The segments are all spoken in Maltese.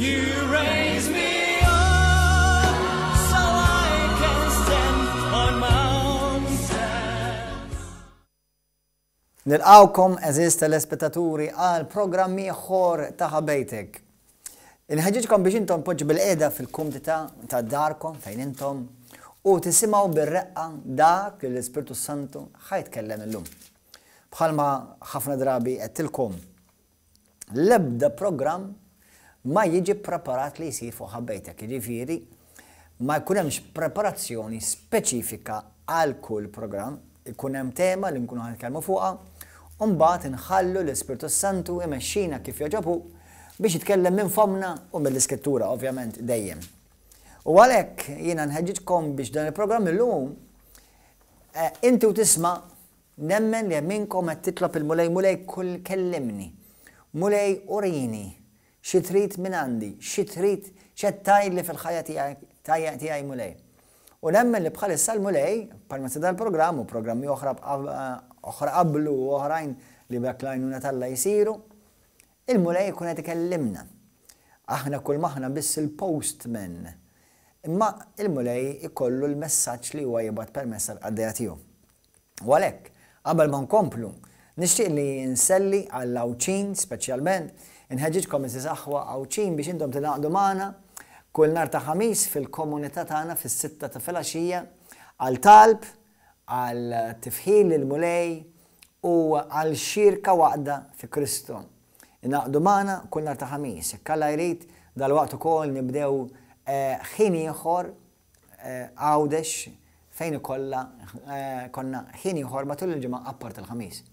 You raise me up so I can stand on mountains. Nilqgħukom għeżież telespettaturi għal programm ieħor ta' Ħabejtek. Inħeġġiġkom biex intom tpoġġu bilqiegħda fil-kumdità ta' darkom fejn intom u tisimgħu bir-reqqa dak li l-Ispirtu Santu ħa jitkellem illum. Bħalma ħafna drabi għedtilkom, L-ebda programm ma jiġi ppreparat li jsir fuq ħabbejtek, jiġifieri ma jkun hemmx preparazzjoni speċifika għal kull programm, ikun hemm tema li nkunu ħa nitkellmu fuqha u mbagħad inħallu l-Ispirtu s-Santu imexxina kif jogħġob hu biex jitkellem minn fommna u mill-Iskrittura ovvjament dejjem. U għalhekk jiena nħeġġiġkom biex dan il-programm illum eh, inti u tisma' Nemmen li hemm minnkom qed titlob il-Mulej, Mulej kull kellimni. Mulej urini xi trid mingħandi, xi trid, x'qed tgħidli fil-ħajja tiegħi tiegħi Mulej. U nemmen li bħalissa l-Mulej, permezz ta' dal-programm u programmi oħra oħra qablu u oħrajn li b'hekk l-għajnuna t'Alla jsiru, il-Mulej ikun qed ikellimna. Aħna kull m'aħna biss il-postman. Imma il-Mulej ikollu l-messaġġ li huwa jibgħat permezz tal-qaddejja tiegħu. U għalhekk, qabel ma nkomplu, nixtieq li nselli għall-Għawdxin speċjalment, inħeġġiġkom għeżież aħwa Għawdxin biex intom tingħaqdu magħna kull nhar ta' Ħamis fil-komunità tagħna fis-sitta ta' filgħaxija għal talb, għal tifħir lill-Mulej u għal xirka u għaqda fi Kristu. Ingħaqdu magħna kull nhar ta' Ħamis. Jekk Alla jrid, dalwaqt ukoll nibdew ħin ieħor Għawdex fejn ikollha konna ħin ieħor matul il-ġimgħa apparti l-Ħamis.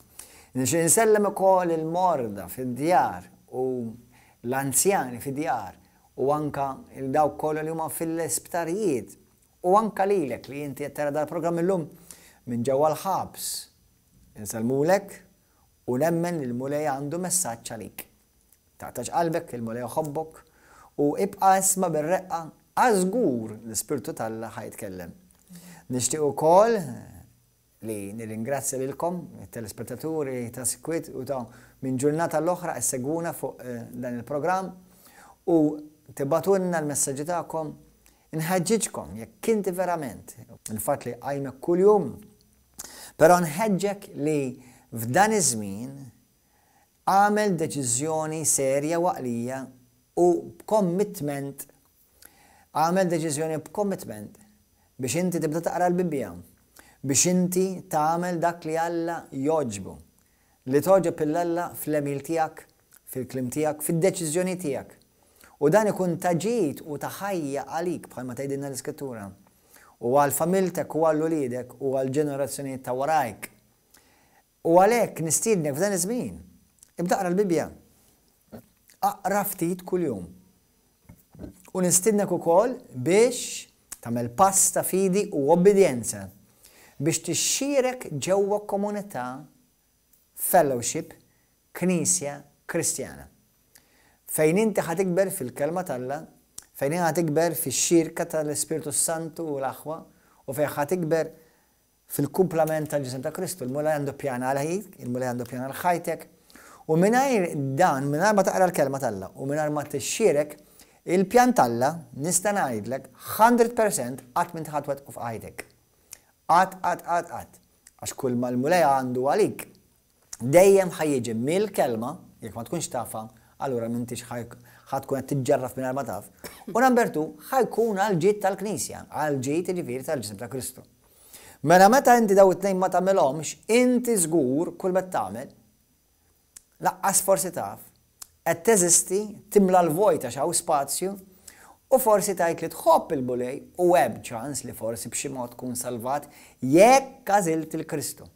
Nixtieq insellem ukoll il-morda fid-djar u l-anzjani fid-djar u anka il dawk kollha li huma fil-isptarijiet u anka lilek li inti qed tara dal-programm illum minn ġewwa l-ħabs. Insellmulek u nemmen li l-Mulej għandu messaġġ għalik. Taqtax qalbek, il-Mulej iħobbok, u ibqa' isma' bir-reqqa, għax żgur l-Ispirtu t'Alla ħa jitkellem. Nixtieq ukoll li nirringrazzja lilkom, it-telespettaturi ta' sikwit u ta' minn ġurnata l-oħra issegwuna fuq eh, dan il-programm u tibgħatulna l-messaġġi tagħkom. Nħeġġiġkom jekk inti verament il-fatt li qajmek kuljum, però nħeġġek li f'dan iż-żmien Agħmel deċiżjoni serja u għaqlija u b'kommitment Agħmel deċiżjoni b'kommitment biex inti tibda taqra l-Bibbja, biex inti tagħmel dak li Alla jogħġbu, li togħġob lil Alla fl-għemil tiegħek, fil-kliem tiegħek, fid-deċiżjonijiet tiegħek. U dan ikun ta' ġid u ta' ħajja għalik bħalma tgħidilna l-Iskrittura, u għal familtek u għal uliedek u għall-ġenerazzjonijiet ta' warajk. U għalhekk nistiednek f'dan iż-żmien, ibda aqra l-Bibbja. Aqra ftit kuljum. U nistiednek ukoll biex tagħmel pass ta' fidi u obbidjenza biex tixxierek ġewwa komunità, fellowship, knisja Kristjana. Fejn inti ħa tikber fil-Kelma t'Alla, fejn ħa tikber fix-xirka tal-Ispirtu s-Santu u l-aħwa, u fejn ħa tikber Fil-kumplament tal-ġisem ta' Kristu, il-Mulej għandu pjan għalik, il-Mulej għandu pjan għal ħajtek, u mingħajr dan, mingħajr ma taqra l-Kelma t'Alla u mingħajr ma tixxierek, il-pjan t'Alla, nista' ngħidlek, 100% qatt m'int ħa twettqu f'ħajtek. Qatt, qatt, qatt, qatt. Għax kull ma l-Mulej għandu għalik, dejjem ħa jiġi mill-Kelma, jekk ma tkunx tafha, allura m'intix ħa tkun qed tiġġarraf mingħajr ma taf, u number two, ħa jkun għall-ġid tal-Knisja, għall-ġid jiġifieri tal-ġisem ta' Kristu. Mela meta inti daw it-tnejn ma tagħmilhomx, inti żgur kull ma tagħmel, laqqas forsi taf, qed teżisti, timla l-vojt għax hawn spazju, u forsi tgħid li tħobb il-Mulej u hemm ċans li forsi b'xi mod tkun salvat jekk għażilt il Kristu.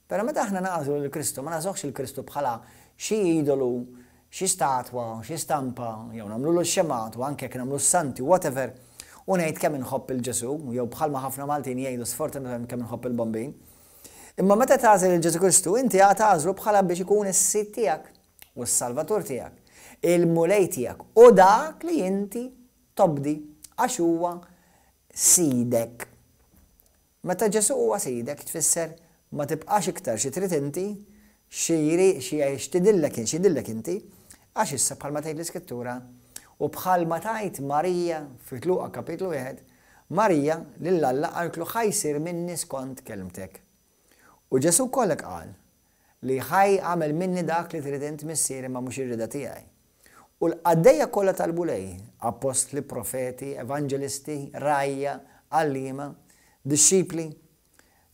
Però meta aħna nagħżlu lil Kristu, ma nagħżluhx lil Kristu bħala xi idolu, xi statwa, xi stampa, jew nagħmlulu x-xemgħat u anke jekk nagħmlu s-santi, whatever, u ngħid kemm inħobb 'il Ġesù, jew bħalma ħafna Maltin jgħidu sfortunatament kemm inħobb il-bombin. Imma meta tagħżel lil Ġesù Kristu, inti għad tagħżlu bħala biex ikun is-Sid tiegħek u s-Salvatur tiegħek, il-Mulej tiegħek u dak li inti tobdi għax huwa Sidek. Meta Ġesù huwa Sidek tfisser ma tibqax iktar xi trid inti, xi jrid, xi x'tidillek x'jidillek inti, għax issa bħalma tgħid l-Iskrittura, U bħalma tgħid Marija fi Luqa kapitlu wieħed, Marija lil Alla qaltlu ħa jsir minni skont kelmtek. U Ġesù wkoll hekk qal, li ħa jagħmel minni dak li trid int Missier imma mhux ir-rieda tiegħi. U l-qaddejja kollha tal-Mulej, appostli, profeti, evanġelisti, rgħajja, għalliema, dixxipli,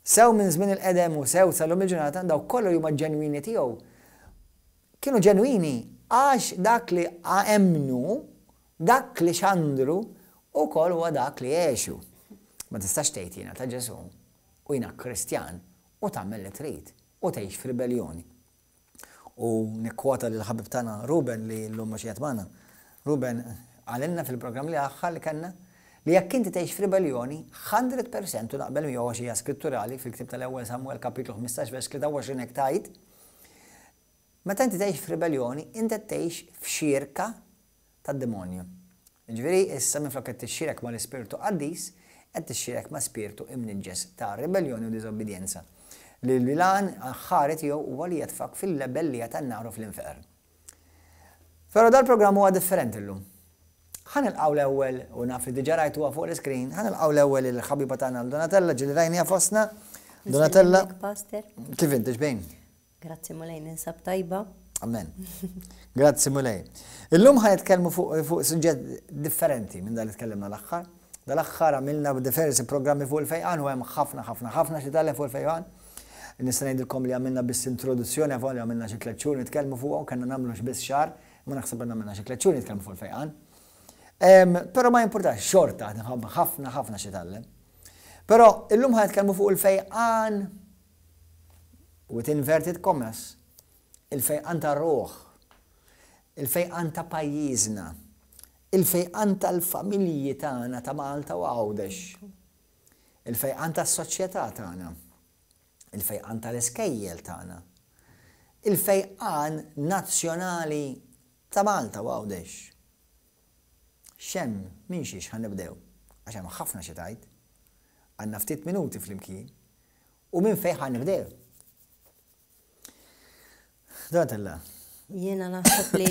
sew minn żmien il-qedem u sew sal-lum il-ġurnata, dawk kollha li huma ġenwini tiegħu, kienu ġenwini għax dak li emmnu, dak li xandru, ukoll huwa dak li għexu. Ma tistax tgħid jiena ta' Ġesù u jiena Kristjan u tagħmel li trid u tgħix f'ribelljoni. U nikkwota lill-ħabib tagħna Ruben li llum mhux qiegħed magħna. Ruben qalilna fil-programm li aħħar li kellna li jekk inti tgħix f'ribelljoni, 100% u naqbel miegħu għax hija skritturali fil-ktieb tal-Ewwel Samwel kapitlu 15 vers 23 hekk tgħid, meta inti tgħix f'ribelljoni, inti qed tgħix f'xirka tad-demonju. Jiġifieri issa minflok qed tixxierek mal-ispirtu qaddis, qed tixxierek ma' spirtu imniġġes ta' ribelljoni u diżobbidjenza, li l-għan aħħari tiegħu huwa li jitfgħek fil-lebellija tan-nar u fl-infern. Però dal-programm huwa differenti llum. Ħa nilqgħu l-ewwel, u naf li diġà rajtuha fuq l-iskrin, ħa nilqgħu l-ewwel il-ħabiba tagħna Donatella, ġieli rajniha fostna. Donatella. Pastor. Kif inti xbejn? Grazzi Mulej, ninsab tajba. Amen. Grazzi Mulej. Illum ħa nitkellmu fuq fu suġġett differenti minn dal li tkellimna l-aħħar. Dal-aħħar għamilna diversi programmi fuq il-fejqan u hemm ħafna ħafna ħafna xi tgħallem fuq il-fejqan. Nista' ngħidilkom li għamilna biss introduzzjoni għavol li għamilna xi tliet xhur nitkellmu fuqhom, kellna nagħmlu biss xahar, ma naħseb li għamilna xi tliet xhur nitkellmu fuq il-fejqan. Però ma jimpurtax, xorta ħafna ħafna xi tgħallem. Però illum ħa nitkellmu fuq il-fejqan with inverted commas, il-fejqan tar-ruħ, il-fejqan ta' pajjiżna, il-fejqan tal-familji tagħna ta' Malta u Għawdex, il-fejqan tas-soċjetà tagħna, il-fejqan tal-iskejjel tagħna, il-fejqan nazzjonali ta' Malta u Għawdex. X'hemm, minn xiex ħa nibdew? Għax hemm ħafna xi tgħid. Għandna ftit minuti flimkien. U minn fejn ħa nibdew? Donatella. Jiena naħseb li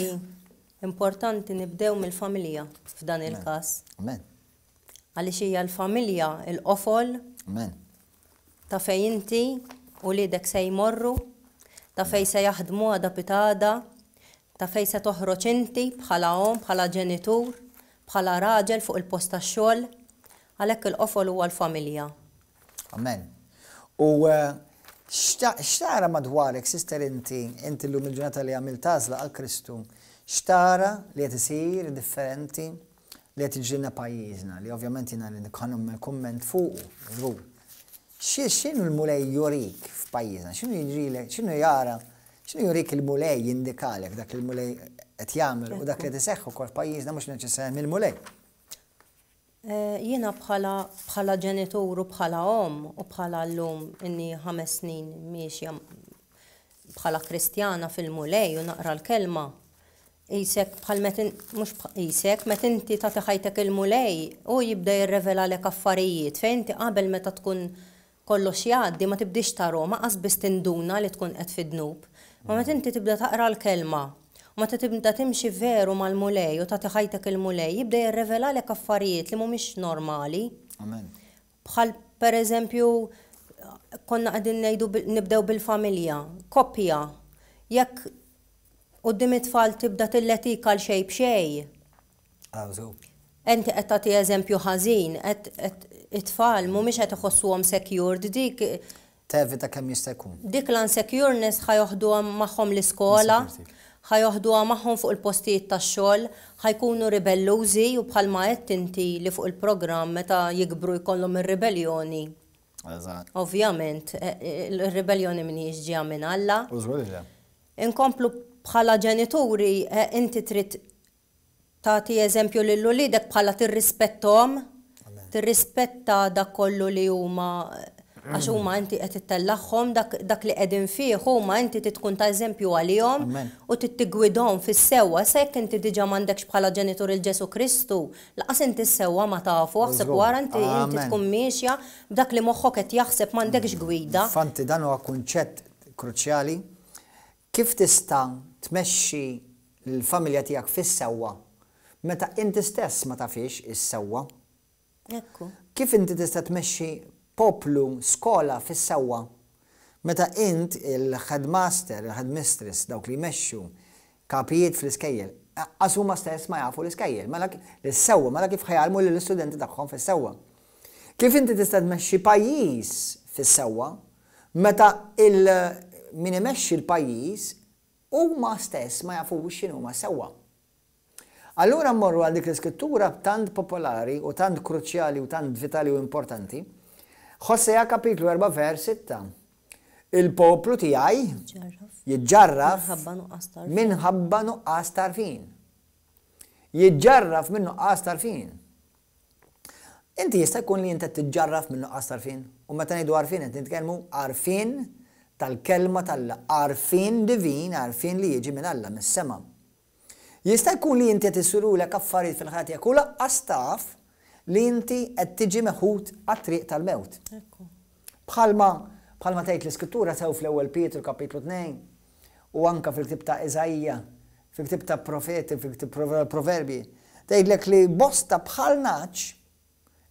importanti nibdew mill-familja f'dan il-każ. Amen. Għaliex hija l-familja l-qofol Amen. ta' fejn inti u uliedek se jmorru, ta' fejn se jaħdmu għada pitgħada, ta' fejn se toħroġ inti bħala omm, bħala ġenitur, bħala raġel fuq il-post tax-xogħol. Għalhekk il-qofol huwa l-familja. Amen. U x'tara madwarek, sister inti, inti llum il-ġurnata li għamilt għażla għal Kristu, x'tara li qed isir differenti li qed jiġrilna pajjiżna, li ovvjament jiena ħa nagħmel kumment fuqu, żgur. X'inhu l-Mulej jurik f'pajjiżna? X'inhu jiġrilek, x'inhu jara, x'inhu jurik il-Mulej jindikalek dak li l-Mulej qed jagħmel u dak li qed iseħħ ukoll f'pajjiżna mhux neċessarjament mill-Mulej. Jiena bħala bħala ġenitur u bħala omm u bħala llum inni ħames snin miexja bħala Kristjana fil-Mulej u naqra l-Kelma, qisek bħal meta mhux qisek, meta inti tagħti ħajtek il-Mulej, hu jibda jirrevelalek affarijiet fejn inti qabel meta tkun Kollox jgħaddi, ma tibdiex tarhom, anqas biss tinduna li tkun qed fid-dnub. Ma meta inti tibda taqra l-Kelma, u meta tibda timxi veru mal-Mulej u tagħti ħajtek il-Mulej, jibda jirrevelalek affarijiet li mhumiex normali. Amen. Bħal per eżempju, konna qegħdin ngħidu nibdew bil-familja, koppja, jekk quddiem it-tfal tibda tilletik għal xejn b'xejn, Għawżu. Inti qed tagħti eżempju ħażin, qed it-tfal mhumiex qed iħossuhom secured, dik Tevita kemm jista' jkun. Dik l-unsecureness ħa joħduha magħhom l-iskola, ħa joħduha magħhom fuq il-postijiet tax-xogħol, ħa jkunu ribellużi u bħalma għedt inti li fuq il-programm meta jikbru jkollhom ir-ribelljoni. Eżatt. Ovvjament, ir-ribelljoni mhijiex ġejja minn Alla. U żgur li le. Inkomplu bħala ġenituri inti trid Tagħti eżempju lil uliedek bħala tirrispetthom, tirrispetta dak kollu li huma għax huma inti qed ittellagħhom dak dak li qegħdin fih huma inti trid tkun ta' eżempju għalihom u trid tiggwidhom fis-sewwa. Issa jekk inti diġà m'għandekx bħala ġenitur 'il Ġesù Kristu, lanqas inti s-sewwa ma tafu, aħseb u ara inti inti tkun miexja b'dak li moħħok qed jaħseb m'għandekx gwida. Infanti dan huwa kunċett kruċjali. Kif tista' tmexxi lill-familja tiegħek fis-sewwa? meta inti stess ma tafhiex is-sewwa? Ekku. Kif inti tista' tmexxi poplu, skola fis-sewwa meta int il-headmaster, il-headmistress, dawk li jmexxu, kapijiet fl-iskejjel, aqqas huma stess ma jafu l-iskejjel, mela l-sewwa, mela kif ħa jgħallmu lill-istudenti tagħhom fis-sewwa? Kif inti tista' tmexxi pajjiż fis-sewwa meta il min imexxi l-pajjiż huma stess ma jafux x'inhuma s-sewwa? Allura mmorru għal dik l-iskrittura tant popolari u tant kruċjali u tant vitali u importanti, Ħosea kapitlu 4 vers 6. Il-poplu tiegħi jiġġarraf minħabba nuqqas t'għarfien. Jiġġarraf minn nuqqas t'għarfien. Inti jista' jkun li int qed tiġġarraf minn nuqqas t'għarfien. U meta ngħidu għarfien qed nitkellmu għarfien tal-Kelma t'Alla, għarfien divin, għarfien li jiġi minn Alla, mis-sema. Jista' jkun li inti qed isirulek affarijiet fil-ħajja tiegħek u lanqas taf li inti qed tiġi meħud għat-triq tal-mewt. Bħalma bħalma tgħid l-Iskrittura sew fl-Ewwel Pietru kapitlu 2 u anke fil-ktieb ta' Iżaija, fil-ktieb ta' Profeti, fil-ktieb Proverbji, tgħidlek li bosta bħal nagħaġ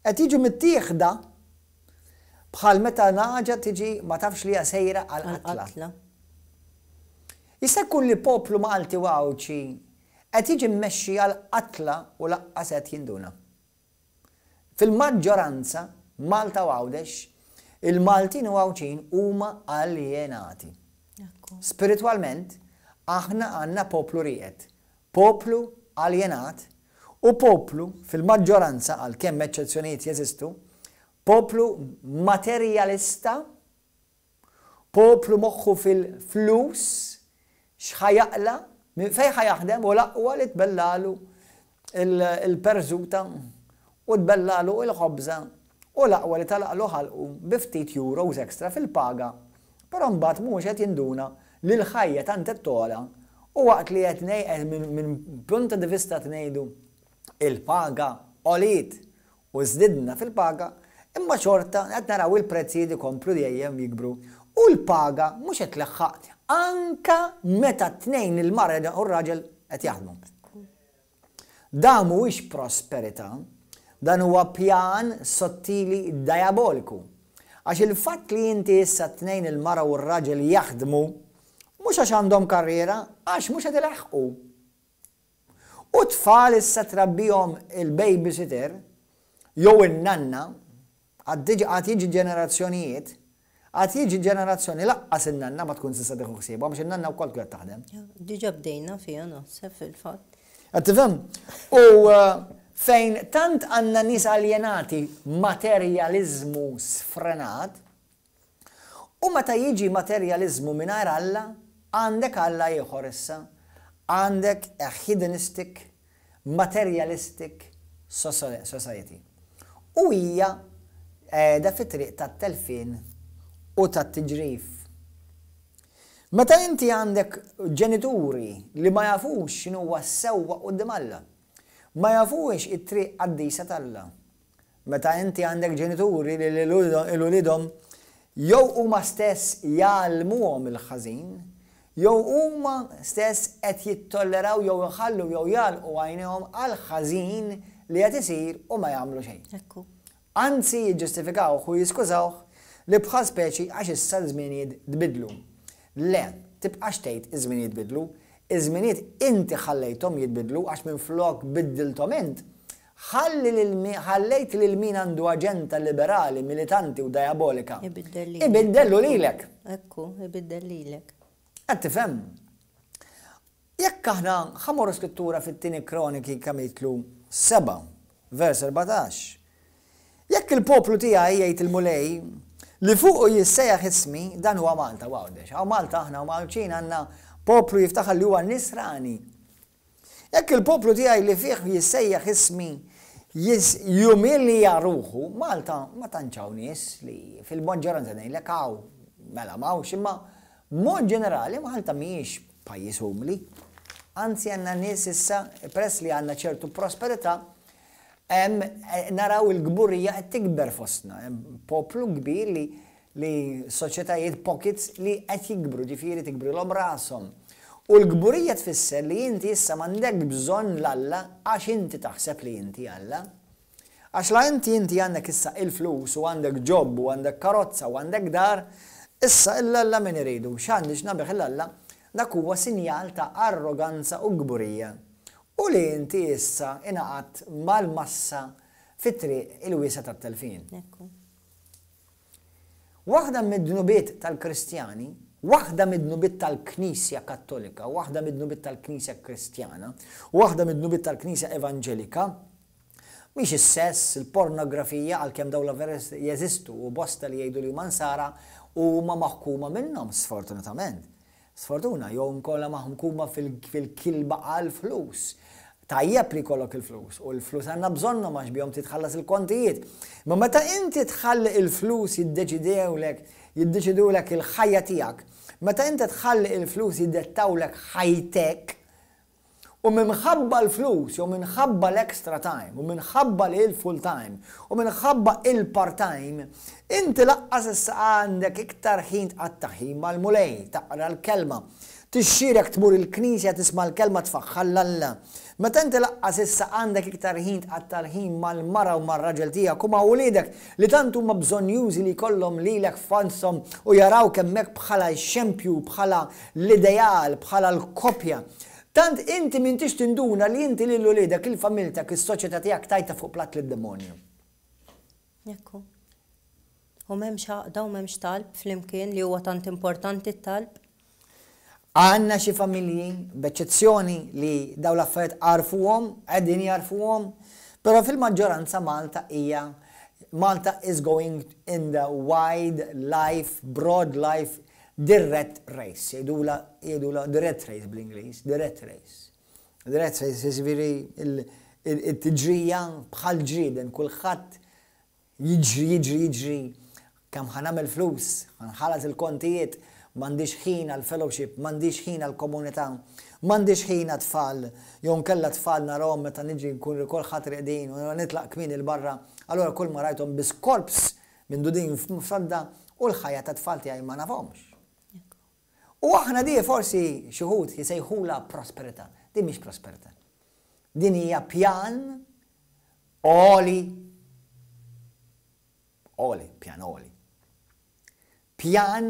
Qed jiġu mittieħda bħal meta nagħġa tiġi ma tafx li hija sejra għall-qatla. Jista' jkun li poplu Malti u Għawdxi qed jiġi mmexxi għall-qatla u laqqas qed jinduna. Fil-maġġoranza, Malta u Għawdex, il-Maltin u Għawdxin huma aljenati. Spiritwalment, aħna għandna poplu rieqed, Poplu aljenat u poplu, fil-maġġoranza, għalkemm eċċezzjonijiet jeżistu, poplu materjalista, poplu moħħu fil-flus, x'ħa jaqla', minn fejn ħa jaħdem u l-aqwa li tbellalu l-perżuta u tbellalu l-ħobża u l-aqwa li tagħlaqlu ħalqu bi ftit euros extra fil-paga, però mbagħad mhuwiex qed jinduna li l-ħajja tant qed togħla u waqt li qed minn punto di vista qed ngħidu il-paga għoliet u żdidna fil-paga, imma xorta qed naraw il-prezzijiet ikomplu dejjem jikbru u l-paga mhux qed tleħħaq anke meta t-tnejn il-mara u r-raġel qed jaħdmu. Dan mhuwiex prosperità, dan huwa pjan sottili dajaboliku. Għax il-fatt li inti issa t-tnejn il-mara u r-raġel jaħdmu, mhux għax għandhom karriera, għax mhux qed ilaħħqu. U t-tfal issa trabbihom il-babysitter jew in-nanna, Għad jiġi ġenerazzjonijiet, għad jiġi ġenerazzjoni laqqas in-nanna ma tkun tista' tieħu ħsiebhom għax in-nanna wkoll tkun qed taħdem. Diġà bdejna fiha naħseb fil-fatt. Qed tifhem? U fejn tant għandna nies aljenati materjaliżmu sfrenat, U meta jiġi materjaliżmu mingħajr Alla, għandek alla ieħor issa, għandek a hedonistic, materialistic society. U hija qiegħda fit-triq tat-telfien u tat-tiġrif. Meta inti għandek ġenituri li ma jafux x'inhuwa s-sewwa quddiem Alla, ma jafux it-triq qaddisa t'Alla, Meta inti għandek ġenituri li lil uliedhom jew huma stess jgħallmuhom il-ħażin, jew huma stess qed jittolleraw jew iħallu jew jagħlqu għajnejhom għall-ħażin li qed isir u ma jagħmlu xejn. Ekku. Anzi jiġġustifikawh u jiskużawh li bħal speċi għax issa l-żminijiet tbiddlu. Le, tibqax tgħid iż-żminijiet tbiddlu. Iż-żminijiet inti ħallejthom jitbiddlu għax minflok biddilthom int, Ħalli lil min, ħallejt lil min għandu aġenda liberali, militanti u diabolika. Ibiddel lilek. Ibiddellu lilek. Ekku, ibiddel lilek. Qed tifhem? Jekk aħna ħa mmorru skrittura fit-Tieni Kroniki kapitlu 7, vers 14. Jekk il-poplu tiegħi, jgħid il-Mulej, li fuqu jissejjaħ ismi, dan huwa Malta u Għawdex. Hawn Malta aħna u Għawdxin għandna poplu jiftaħar li huwa Nisrani. Jekk il-poplu tiegħi li fih jissejjaħ ismi jumilja ruħu, Malta ma tantx hawn nies li fil-maġġoranza ngħidlek hawn, mela m'hawnx, imma b'mod ġenerali Malta mhijiex pajjiż umli. Anzi għandna nies issa, peress li għandna ċertu prosperità, hemm naraw il-kburija qed tikber fostna. Hemm poplu kbir li li soċjetajiet pockets li qed jikbru, ġifieri tikbrilhom rashom. U l-kburija tfisser li inti issa m'għandekx bżonn 'l Alla għax inti taħseb li inti Alla. Għax la inti inti għandek issa il-flus u għandek job u għandek karozza u għandek dar, issa 'l Alla min iridu, x'għandi x'nagħbih 'l Alla, dak huwa sinjal ta' arroganza u kburija. U li inti issa ingħaqadt mal-massa fit-triq il-wiesgħa tat-telfien. Ekku. Waħda mid-dnubiet tal-Kristjani, waħda mid-dnubiet tal-Knisja Kattolika, waħda mid-dnubiet tal-Knisja Kristjana, waħda mid-dnubiet tal-Knisja Evanġelika, mhix is-sess, il-pornografija, għalkemm dawn l-affarijiet jeżistu u bosta li jgħidu li huma Nsara u huma maħkuma minnhom, sfortunatament. Sfortuna, jew inkella maħkuma fil-kilba għall-flus. Tajjeb li jkollok il-flus, u l-flus għandna bżonnhom għax bihom titħallas il-kontijiet. Imma meta inti tħalli il-flus jiddeċidewlek, jiddeċidulek il-ħajja tiegħek, meta inti tħalli il-flus jiddettawlek ħajtek, U minħabba l-flus jew minħabba l-extra time u minħabba li il-full time u minħabba il-part time, inti laqqas issa għandek iktar ħin tqatta' ħin mal-Mulej, taqra l-Kelma, tixxierek tmur il-knisja tisma' l-Kelma tfaħħar 'l Alla. Meta inti laqqas issa għandek iktar ħin tqatta' l-ħin mal-mara u mar-raġel tiegħek u ma' uliedek li tant huma bżonnjużi li jkollhom lilek f'fonsthom u jarawk hemmhekk bħala x-xempju, bħala l-ideal, bħala l-kopja. Tant inti m'intix tinduna li inti lil uliedek, il-familtek, is-soċjetà tiegħek tajtha fuq platt lid-demonju. Ekku. U m'hemmx għaqda u m'hemmx talb flimkien li huwa tant importanti t-talb. Għandna xi familji, b'eċċezzjoni, li dawn l-affarijiet għarfuhom, qegħdin jagħrfuhom, però fil-maġġoranza Malta hija Malta is going in the wide life, broad life The rat race, jgħidulha jgħidulha the rat race bl-Ingliż, the rat race. The rat race jiġifieri it-tiġrija bħal ġrieden, kulħadd jiġri, jiġri, jiġri kemm ħa nagħmel flus, ħa nħallas il-kontijiet, m'għandix ħin għall-fellowship, m'għandix ħin għall-komunità, m'għandix ħin għat-tfal, jew inkella t-tfal narahom meta niġi nkun kulħadd reqdin u nitlaq kmieni 'l barra, allura kulma rajthom biss korps Mindudin f'sodda u l-ħajja tat-tfal tiegħi ma nafhomx. U aħna di forsi xi wħud jsejħulha prosperità. Din mhix prosperità. Din hija pjan għoli għoli, pjan għoli. Pjan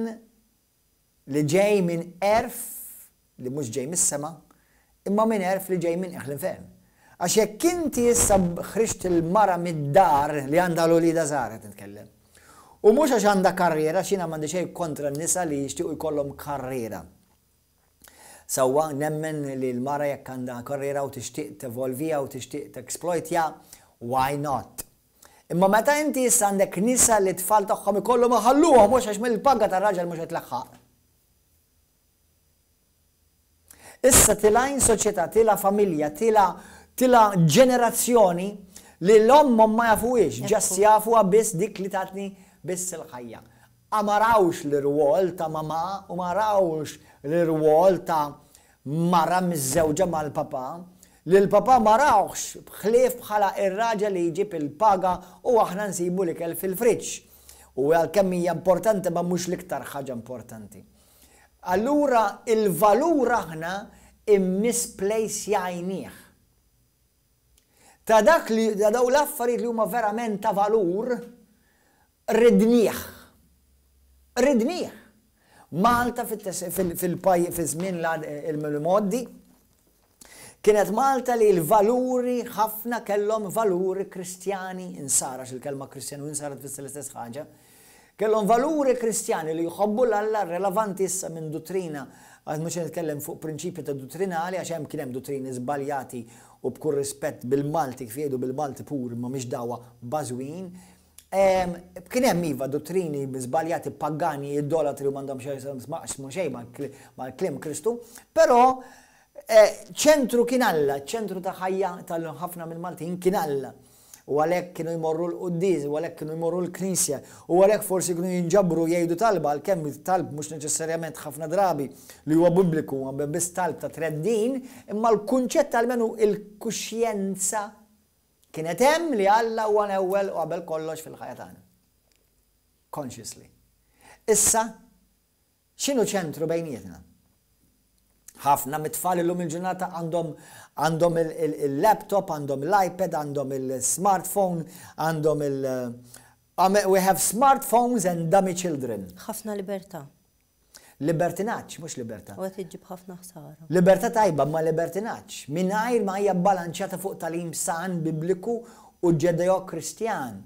li ġej minn għerf li mhux ġej mis-sema, imma minn għerf li ġej minn qiegħ l-infern. Għax jekk inti issa ħriġt il-mara mid-dar li għandha l-uliedha żgħar qed nitkellem, u mhux għax għandha karriera, għax jiena m'għandi xejn kontra n-nisa li jixtiequ jkollhom karriera. Sewwa, nemmen li l-mara jekk għandha karriera u tixtieq tevolviha u tixtieq texploitja, why not? Imma meta inti issa għandek nisa li t-tfal tagħhom ikollhom iħalluhom mhux għax mill-paga tar-raġel mhux qed tlaħħaq. Issa tilgħin soċjetà, tilgħa familja, tilgħa tilgħa ġenerazzjoni li l-ommhom ma jafuhiex, just jafuha biss dik li tatni biss il-ħajja. A ma rawx l-irwol ta' mamà u ma rawx l-irwol ta' mara miżżewġa mal-papà, Lill-papà ma rawhx ħlief bħala r-raġel li jġib il-paga u aħna nsibu l-ikel fil-friġġ. U għalkemm hija importanti ma mhux l-iktar ħaġa importanti. Allura il-valur aħna immisplejsjajnih. Ta' dak li ta' dawn l-affarijiet li huma verament ta' valur ridnih. Ridnih. Malta fil-żmien l-imgħoddi kienet Malta li l-valuri ħafna kellhom valuri Kristjani insara, għax il-kelma Kristjan u insara tfisser l-istess ħaġa, kellhom valuri Kristjani li jħobbu 'l Alla relevanti issa minn duttrina, għax mhux se nitkellem fuq prinċipji ta' duttrinali għax hemm kien hemm duttrini żbaljati u b'kull rispett bil-Malti kif jgħidu bil-Malti pur imma mhix dagħwa bażwin, Kien hemm iva duttrini żbaljati pagani, idolatri u m'għandhom x'jaqsmu xejn mal-kliem Kristu, però ċentru kien Alla, ċentru ta' ħajja tal-ħafna mill-Maltin kien Alla. U għalhekk kienu jmorru l-quddies, u għalhekk kienu jmorru l-knisja, u għalhekk forsi kienu jinġabru jgħidu talba għalkemm it-talb mhux neċessarjament ħafna drabi li huwa bibbliku, huwa biss talb ta' treddin, imma l-kunċett almenu il-kuxjenza Kienet hemm li Alla huwa l-ewwel u qabel kollox fil-ħajja tagħna. Consciously. Issa, x'inhu ċentru bejnietna? Ħafna mit-tfal illum il-ġurnata għandhom għandhom il-laptop, għandhom l-iPad, għandhom il-smartphone, għandhom il- We have smartphones and dummy children. Ħafna libertà. Libertinaġġ, mhux libertà. U qed iġġib ħafna ħsara. Libertà tajba ma libertinaġġ, mingħajr ma hija bbalanċjata fuq tagħlim san bibliku u ġedeo-Kristjan.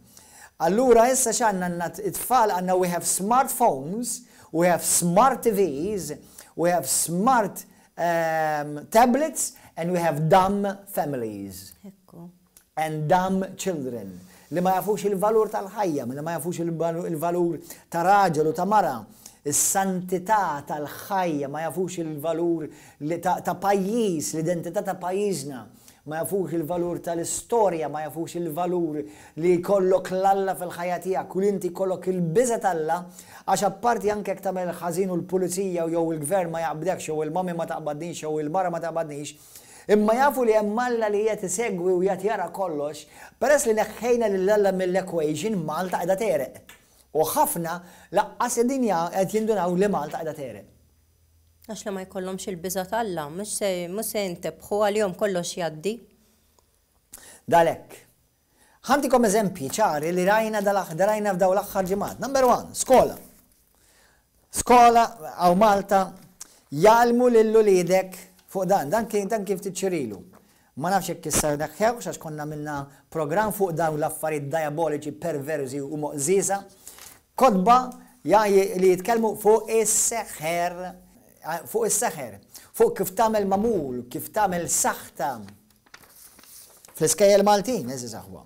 Allura issa x'għandna għandna t-tfal għandna we have smartphones, we have smart TVs, we have smart um, tablets and we have dumb families. Ekku. And dumb children li ma jafux il-valur tal-ħajja, li ma jafux il-valur ta' raġel u ta' mara, is-santità tal-ħajja, ma jafux il-valur ta' pajjiż, l-identità ta' pajjiżna, ma jafux il-valur tal-istorja, ma jafux il-valur li jkollok 'l Alla fil-ħajja tiegħek u li inti jkollok il-biża' t'Alla, għax apparti anke jekk tagħmel il-ħażin u l-pulizija jew il-gvern ma jaqbdekx jew il-mommy ma taqbadnix jew il-mara ma taqbadnix, Imma jafu li hemm Alla li qiegħed isegwi u qiegħed jara kollox, peress li neħħejna lil Alla mill-equation, Malta qiegħda tegħreq. U ħafna laqqas qegħdin qed jindunaw li Malta qiegħda tegħreq. Għax li ma jkollhomx il-biża' t'Alla, mhux se mhux se jintebħu għalihom kollox jgħaddi. Dalhekk. Ħa ntikom eżempji ċari li rajna rajna f'dawn l-aħħar ġimgħat. Number one, skola. Skola hawn Malta jgħallmu lil uliedek fuq dan, dan kien dan kif tiċċirilu. Ma nafx jekk issa neħħewx għax konna għamilna programm fuq dawn l-affarijiet diaboliċi, perversi u moqżieża. Kotba li jitkellmu fuq is-seħer, fuq is-seħer, fuq kif tagħmel magħmul, kif tagħmel saħta. Fl-iskejjel Maltin, għeżież aħwa,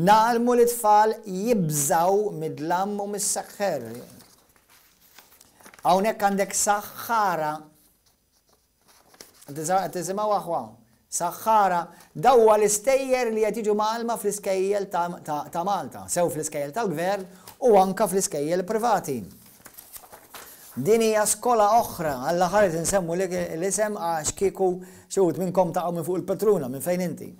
ngħallmu lit-tfal jibżgħu mid-dlam u mis-seħħer. Hawnhekk għandek saħħara. Qed tisimgħu aħwa? Saħħara, dawn huwa l-istejjer li qed jiġu mgħallma fl-iskejjel ta' Malta, sew fl-iskejjel tal-gvern u anke fl-iskejjel privati. Din hija skola oħra, Alla ħares insemmu l-isem għax kieku xi wħud minnkom taqgħu minn fuq il-petruna minn fejn inti.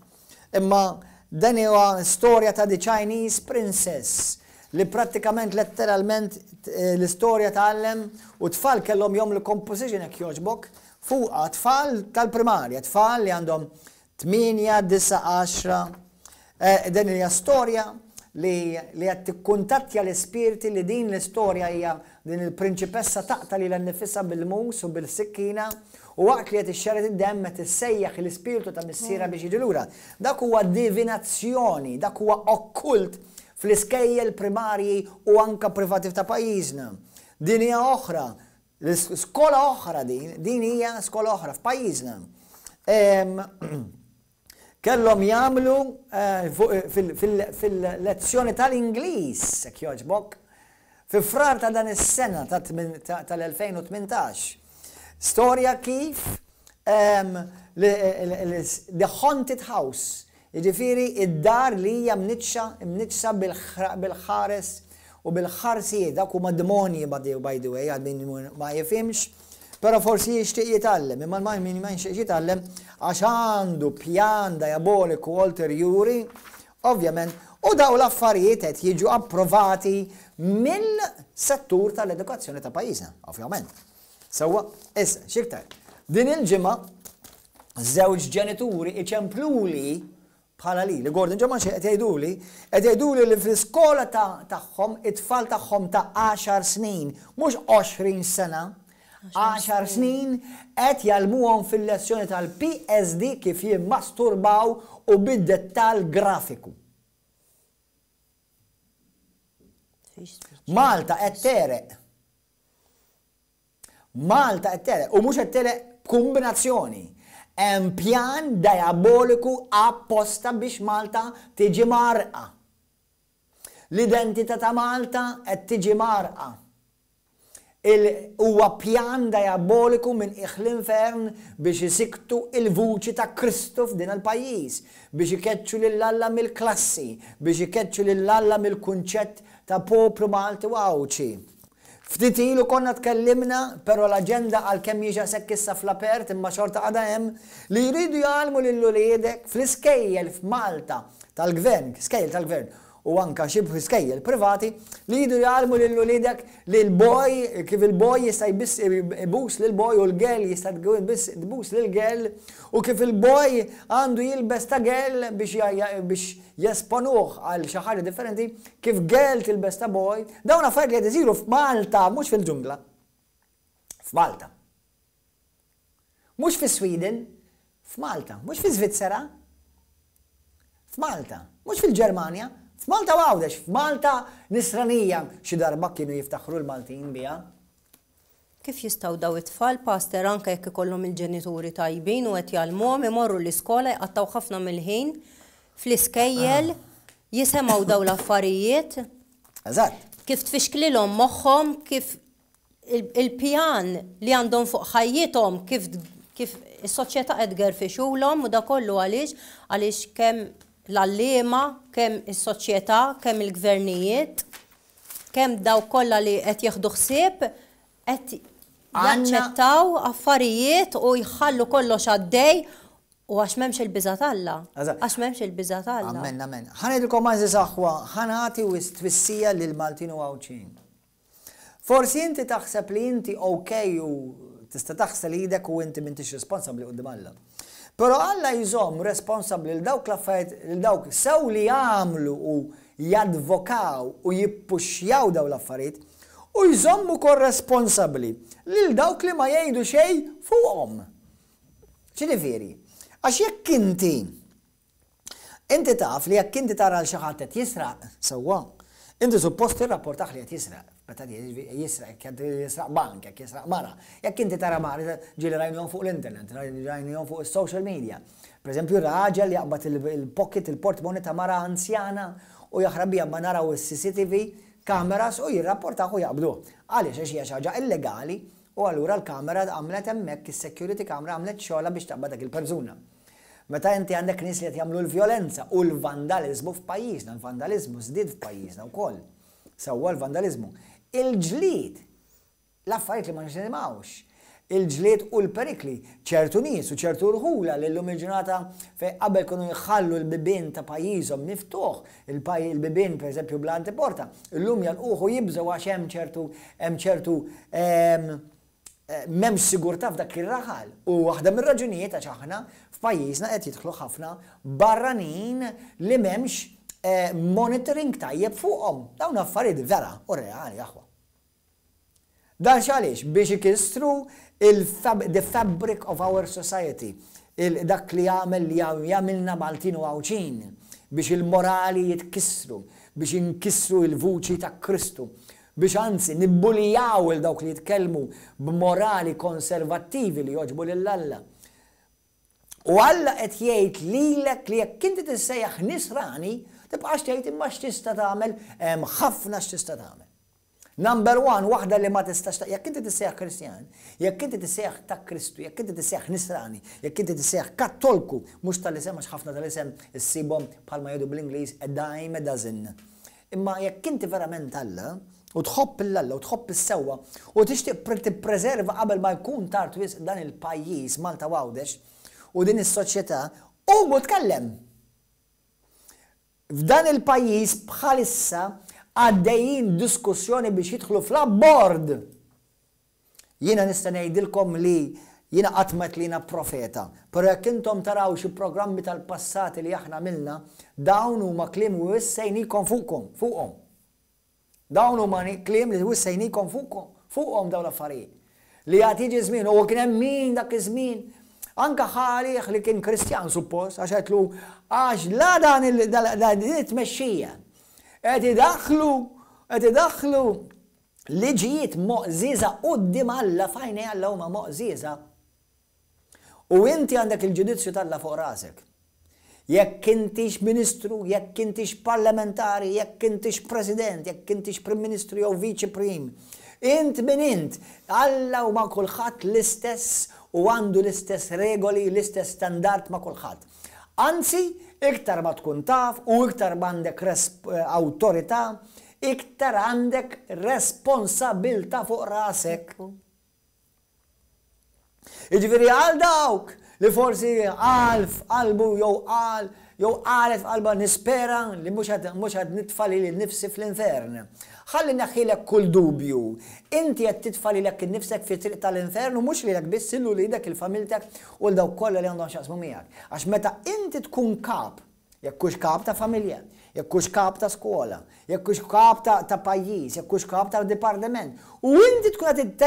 Imma dan huwa storja ta' The Chinese Princess li prattikament letteralment l-istorja tgħallem u tfal kellhom jagħmlu composition hekk jogħġbok fuqha, tfal tal-primarja, tfal li għandhom 8, 9, 10. Din hija storja li li qed tikkuntattja l-ispirti li din l-istorja hija din il-prinċipessa taqta' lilha nnifisha bil-mus u bil-sikkina u waqt li qed ixxerred id-demm qed issejjaħ l-ispirtu ta' missierha biex jiġi lura. Dak huwa divinazzjoni, dak huwa okkult fl-iskejjel primarji u anke privati ta' pajjiżna. Din hija oħra, skola oħra din, din hija skola oħra f'pajjiżna. Kellhom jagħmlu fil-lezzjoni tal-Ingliż, jekk jogħġbok, fi Frar ta' dan is-sena tal-2018. Storja kif The Haunted House, jiġifieri d-dar li hija mniġġsa, imniġġsa bil-ħares u bil-ħarsijiet, dawk huma demonji by the way għal min ma jifhimx, Però forsi jixtieq jitgħallem, imma ma min ma jixtieqx jitgħallem għax għandu pjan diaboliku ulterjuri, ovvjament, u dawn l-affarijiet qed jiġu approvati mill-settur tal-edukazzjoni ta' pajjiżna, ovvjament. Sewwa, issa, x'iktar? Din il-ġimgħa żewġ ġenituri iċempluli Bħala lili, Gordon Ġo Manche qed jgħiduli, qed jgħiduli li fl-iskola ta' tagħhom it-tfal tagħhom ta' għaxar snin, mhux 20 sena, għaxar snin qed jgħallmuhom fil-lezzjoni tal-PSD kif jimmasturbaw u bid-dettall grafiku. Malta qed tegħreq. Malta qed tegħreq u mhux qed tegħreq b'kumbinazzjoni. Hemm pjan diaboliku apposta biex Malta tiġi mgħarrqa. L-identità ta' Malta qed tiġi mgħarrqa. Il huwa pjan diaboliku minn qiegħ l-infern biex isikktu il-vuċi ta' Kristu f'din il-pajjiż, biex ikeċċu lil Alla mill-klassi, biex ikeċċu lil Alla mill-kunċett ta' poplu Malti u Għawdxi. Ftit ilu konna tkellimna, però l-aġenda għalkemm mhijiex daqshekk issa fl-apert imma xorta għadha hemm, li jridu jgħallmu lil uliedek fl-iskejjel f'Malta tal-gvern, skejjel tal-gvern, u anke xi skejjel privati li jridu jgħallmu lil uliedek li l-boy, kif il-boy jista' jbiss ibus lill-boy u l-girl jista' tbus lill-girl u kif il-boy għandu jilbes ta' girl biex biex jesponuh għal xi ħaġa differenti, kif girl tilbes ta' boy. Dawn affarijiet li qed isiru f'Malta, mhux fil-ġungla. F'Malta. Mhux fi Sweden, f'Malta. Mhux fi Svizzera, f'Malta. Mhux fil-Ġermanja, f'Malta u Għawdex, f'Malta nisranija xi darba kienu jiftaħru l-Maltin biha. Kif jistgħu daw it-tfal, Pastor, anke jekk ikollhom il-ġenituri tajbin u qed jgħallmuhom, imorru l-iskola jqattgħu ħafna mill-ħin fl-iskejjel, jisemgħu daw l-affarijiet. Eżatt. Kif tfixklilhom moħħhom, kif il-pjan li għandhom fuq ħajjithom kif kif is-soċjetà qed tgerfixulhom u da kollu għaliex għaliex kemm l-għalliema, kemm is-soċjetà, kemm il-gvernijiet, kemm dawk kollha li qed jieħdu ħsieb qed jaċċettaw affarijiet u jħallu kollox għaddej u għax m'hemmx il-biża' t'Alla. Għax m'hemmx il-biża' t'Alla. Amen, amen. Ħa ngħidilkom għeżież aħwa, ħa nagħti twissija lill-Maltin u Għawdxin. Forsi inti taħseb li inti ok u tista' taħsel idek u inti m'intix responsabbli quddiem Alla. Però Alla jżomm responsabbli lil dawk l-affarijiet, lil dawk sew li jagħmlu u jadvokaw u jippuxxjaw dawn l-affarijiet, u jżomm ukoll responsabbli lil dawk li ma jgħidu xejn fuqhom. X'jiġifieri? Għax jekk inti Inti taf li jekk inti tara 'l xi ħadd qed jisraq, sewwa, inti suppost tirrapportah li qed jisraq. Meta jisraq, jekk qed jisraq bank, jekk jisraq mara. Jekk inti tara mara, ġieli rajnihom fuq l-internet, rajnihom fuq is-social media. Pereżempju raġel jaqbad il-pocket, il-portmoni ta' mara anzjana u jaħrab biha imma naraw is-CCTV cameras u jirrapportah u jaqbduh. Għaliex? Għax hija xi ħaġa illegali u allura l-kamera għamlet hemmhekk, is-security camera għamlet xogħolha biex taqbad dak il-persuna. Meta inti għandek nies li qed jagħmlu l-vjolenza u l-vandaliżmu f'pajjiżna, l-vandaliżmu żdied f'pajjiżna wkoll. Sewwa l-vandaliżmu. Il-ġlied, l-affarijiet li ma nisimgħux, il-ġlied u l-perikli, ċertu nies u ċertu rħula li llum il-ġurnata fejn qabel kienu jħallu l-bibien ta' pajjiżhom miftuħ, il-bibien pereżempju bl-antiporta, illum jagħlquh u jibżgħu għax hemm ċertu hemm ċertu M'hemmx sigurtà f'dak ir-raħal u waħda mir-raġunijiet għax aħna f'pajjiżna qed jidħlu ħafna barranin li m'hemmx monitoring tajjeb fuqhom. Dawn affarijiet vera u reali aħwa. Dan x'għaliex? Biex ikissru il-the fabric of our society, dak li jagħmel li jagħmilna Maltin u Għawdxin, biex il-morali jitkissru, biex inkissru il-vuċi ta' Kristu, biex anzi nibbulijaw 'il dawk li jitkellmu b'morali konservattivi li jogħġbu lil Alla. U Alla qed jgħid lilek li jekk inti tissejjaħ Nisrani, tibqax tgħid imma x'tista' tagħmel, hemm ħafna x'tista' tagħmel. Number one, waħda li ma tistax ta' jekk inti tissejjaħ Kristjan, jekk inti tissejjaħ ta' Kristu, jekk inti tissejjaħ Nisrani, jekk inti tissejjaħ Kattolku, mhux tal-isem għax ħafna tal-isem issibhom bħalma jgħidu bl-Ingliż a dime a dozen. Imma jekk inti verament Alla, u tħobb 'l Alla u tħobb is-sewwa u tixtieq tippreserva qabel ma jkun tard wisq dan il-pajjiż, Malta u Għawdex, u din is-soċjetà, qum u tkellem! F'dan il-pajjiż bħalissa għaddejjin diskussjoni biex jidħlu fl-abord! Jiena nista' ngħidilkom li jiena qatt m'għedt li jiena profeta, però jekk intom taraw xi programmi tal-passati li aħna għamilna, dawn huma kliem li wissejnikom fuqkom, fuqhom. Dawn huma kliem li wissejnikom fuqkom, fuqhom dawn l-affarijiet. Li għad jiġi żmien, u kien hemm min dak iż-żmien, anke ħalih li kien Kristjan suppost, għax għedtlu għax la dan din it-tmexxija qed idaħħlu, qed idaħħlu Liġijiet moqżieża quddiem Alla, f'għajnej Alla huma moqżieża. U inti għandek il-ġudizzju t'Alla fuq rasek. Jekk intix ministru, jekk intix parlamentari, jekk intix president, jekk intix prim ministru jew viċi prim. Int min int, Alla hu ma' kulħadd l-istess u għandu l-istess regoli, l-istess standard ma' kulħadd. Anzi, iktar ma tkun taf u iktar ma għandek awtorità, Iktar għandek responsabilta fuq rasek. Jiġifieri għal dawk li forsi qal f'qalbu jew qal jew qalet f'qalbha nispera li mhux qed mhux qed nitfa' lili nnifsi fl-infern. Ħalli nneħħilek kull dubju. Inti qed titfa' lilek innifsek fit-triq tal-infern u mhux lilek biss 'il uliedek, 'il familtek u 'l dawk kollha li għandhom x'jaqsmu miegħek. Għax meta inti tkun kap, jekk hux kap ta' familja, jekk hux kap ta' skola, jekk hux kap ta' ta' pajjiż, jekk hux kap ta' dipartiment, u inti tkun qed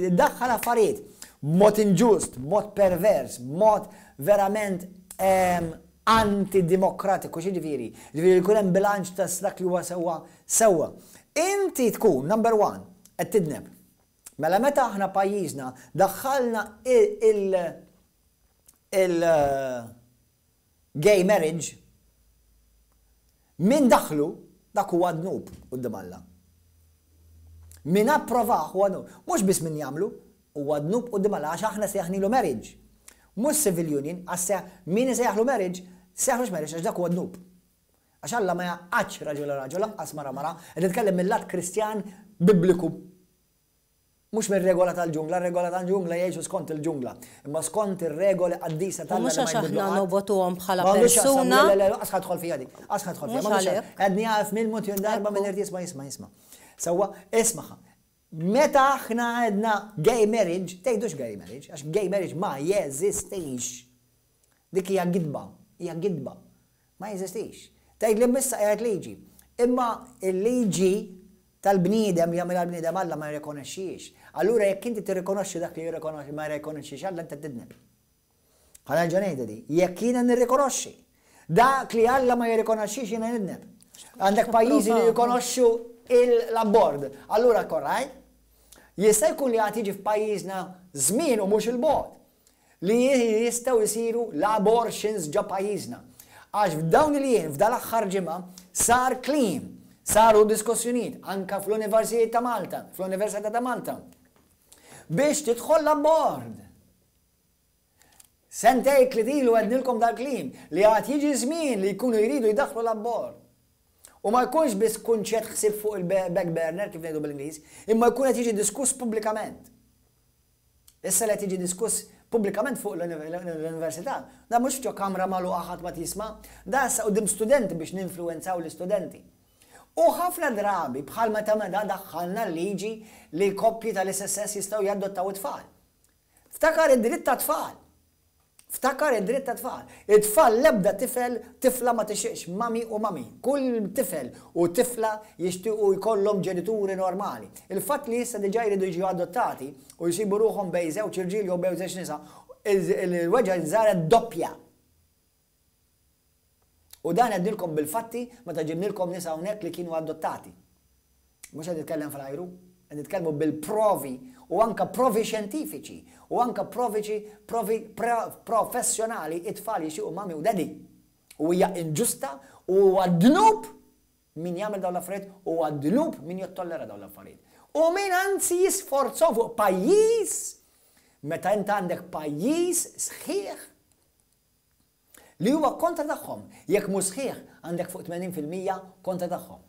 iddaħħal affarijiet b'mod inġust, b'mod pervers, b'mod verament antidemokratiku, x'jiġifieri? Jiġifieri li jkun hemm bilanċ ta' dak li huwa sewwa sewwa. Inti tkun, number one, qed tidneb. Mela meta aħna pajjiżna daħħalna il il gay marriage, min daħħlu dak huwa dnub quddiem Alla. Min approvah huwa dnub. Mhux biss min jagħmlu, huwa dnub quddiem Alla għax aħna sejjaħnilu marriage. Mhux civil union, għax se min isejjaħlu marriage, sejjaħlux marriage għax dak huwa dnub. Għax Alla ma jgħaqqadx raġel u raġel, lanqas mara mara, qed nitkellem mill-lat Kristjan Bibliku. Mhux mir-regola tal-ġungla, r-regola tal-ġungla jgħixu skont il-ġungla, imma skont ir-regoli qaddisa U t'Alla mhux li ma għax jinbidlu aħna qatt. nobotuhom bħala Ma għandux x'jaqsam, persuna. le le le, lanqas ħa tidħol fija dik, lanqas ħa tidħol fija, Mhux m'għandux x'jaqsam. għalhekk. Għedni għalf mil mutjun darba Ekku. min irid jisma' jisma' jisma'. Sewwa, isma' Meta aħna għedna gay marriage, tgħidux gay marriage, għax gay marriage ma jeżistix. Dik hija gidba, hija gidba. Ma jeżistix. Tgħidli imma issa qiegħed liġi. Imma l-liġi tal-bniedem li jagħmilha l-bniedem Alla ma jirrikonoxxihiex. Allura jekk inti tirrikonoxxi dak li ma jirrikonoxxix Alla inti qed tidneb. Ħa nerġa' ngħidha di. Jekk jiena nirrikonoxxi dak li Alla ma jirrikonoxxix jiena nidneb. Għandek pajjiżi li jirrikonoxxu l-abort. Allura korrajt? Jista' jkun li għad jiġi f'pajjiżna żmien u mhux 'il bogħod li jistgħu jsiru l-abortions ġo pajjiżna. Għax f'dawn il-jiem, f'dal-aħħar ġimgħa, sar kliem, saru diskussjonijiet anke fl-Universijiet ta' Malta, fl-Università ta' Malta, biex tidħol l-abort. Sentejn tliet ilu għednilkom dal-kliem, li għad jiġi żmien li jkunu jridu jdaħħlu l-abort. U ma jkunx biss kunċett ħsieb fuq il-back burner, kif ngħidu bl-Ingliż, imma jkun qed jiġi diskuss pubblikament. Issa li qed jiġi diskuss pubblikament fuq l-università, dan mhux f'ġo kamra magħluqa ħadd ma jisma', dan issa quddiem studenti biex ninfluwenzaw l-istudenti. U ħafna drabi bħal meta meta daħħalna l-liġi li koppji tal-istess sess jistgħu jadottaw it-tfal. Ftakar id-dritt tat-tfal. Ftakar id-dritt tat-tfal. It-tfal l-ebda tifel, tifla ma tixtieqx mummy u mummy. Kull tifel u tifla jixtiequ jkollhom ġenituri normali. Il-fatt li issa diġà jridu jiġu adottati u jsibu ruħhom bejn żewġ irġiel jew bejn żewġ nisa, il-weġgħa saret doppja. U dan għednilkom bil-fatti meta ġibnilkom nies hawnhekk li kienu adottati. Mhux qed nitkellem fl-ajru, qed nitkellmu bil-provi u anke provi xjentifiċi u anke proviċi provi professjonali it-tfal jixtiequ mummy u daddy. U hija inġusta u huwa dnub min jagħmel dawn l-affarijiet u huwa dnub min jittollera dawn l-affarijiet. U min anzi jisforzahom fuq pajjiż meta int għandek pajjiż sħiħ li huwa kontra tagħhom, jekk mhux sħiħ għandek fuq 80% kontra tagħhom.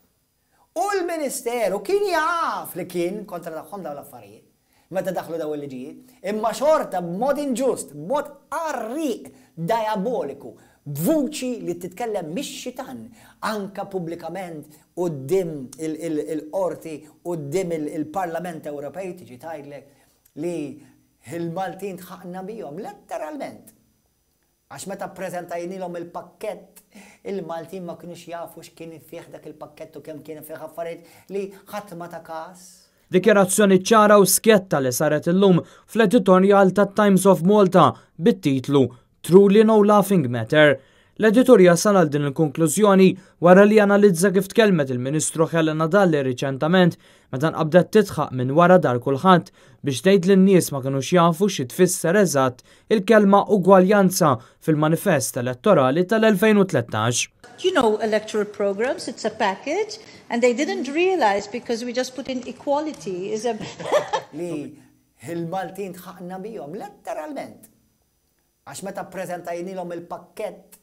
U l-Ministeru kien jaf li kien kontra tagħhom dawn l-affarijiet meta daħlu dawn il-liġijiet, imma xorta b'mod inġust, b'mod qarrieq, diaboliku, b'vuċi li titkellem mix-xitan, anke pubblikament quddiem il-Qorti, quddiem il-Parlament Ewropej tiġi tgħidlek li l-Maltin dħaqna bihom, letteralment. Għax meta ppreżentajnilhom il-pakkett, il-Maltin ma kinux jafu x'kien fih dak il-pakkett u kemm kien fih affarijiet li ħadd ma ta kas. Dikjarazzjoni ċara u skjetta li saret illum fl-editorjal tat-Times of Malta bit-titlu Truly No Laughing Matter. L-editur jasal għal din il-konklużjoni wara li analizza kif tkellmet il-Ministru Helena Dalli riċentament meta nqabdet tidħaq minn wara dar kulħadd biex tgħid li n-nies ma kinux jafu xi tfisser eżatt il-kelma ugwaljanza fil-manifest elettorali tal-2013. You know, electoral programs, it's a package, and they didn't realize because we just put in equality is a Li il-Maltin dħaqna bihom, letteralment. Għax meta ppreżentajnilhom il-pakkett,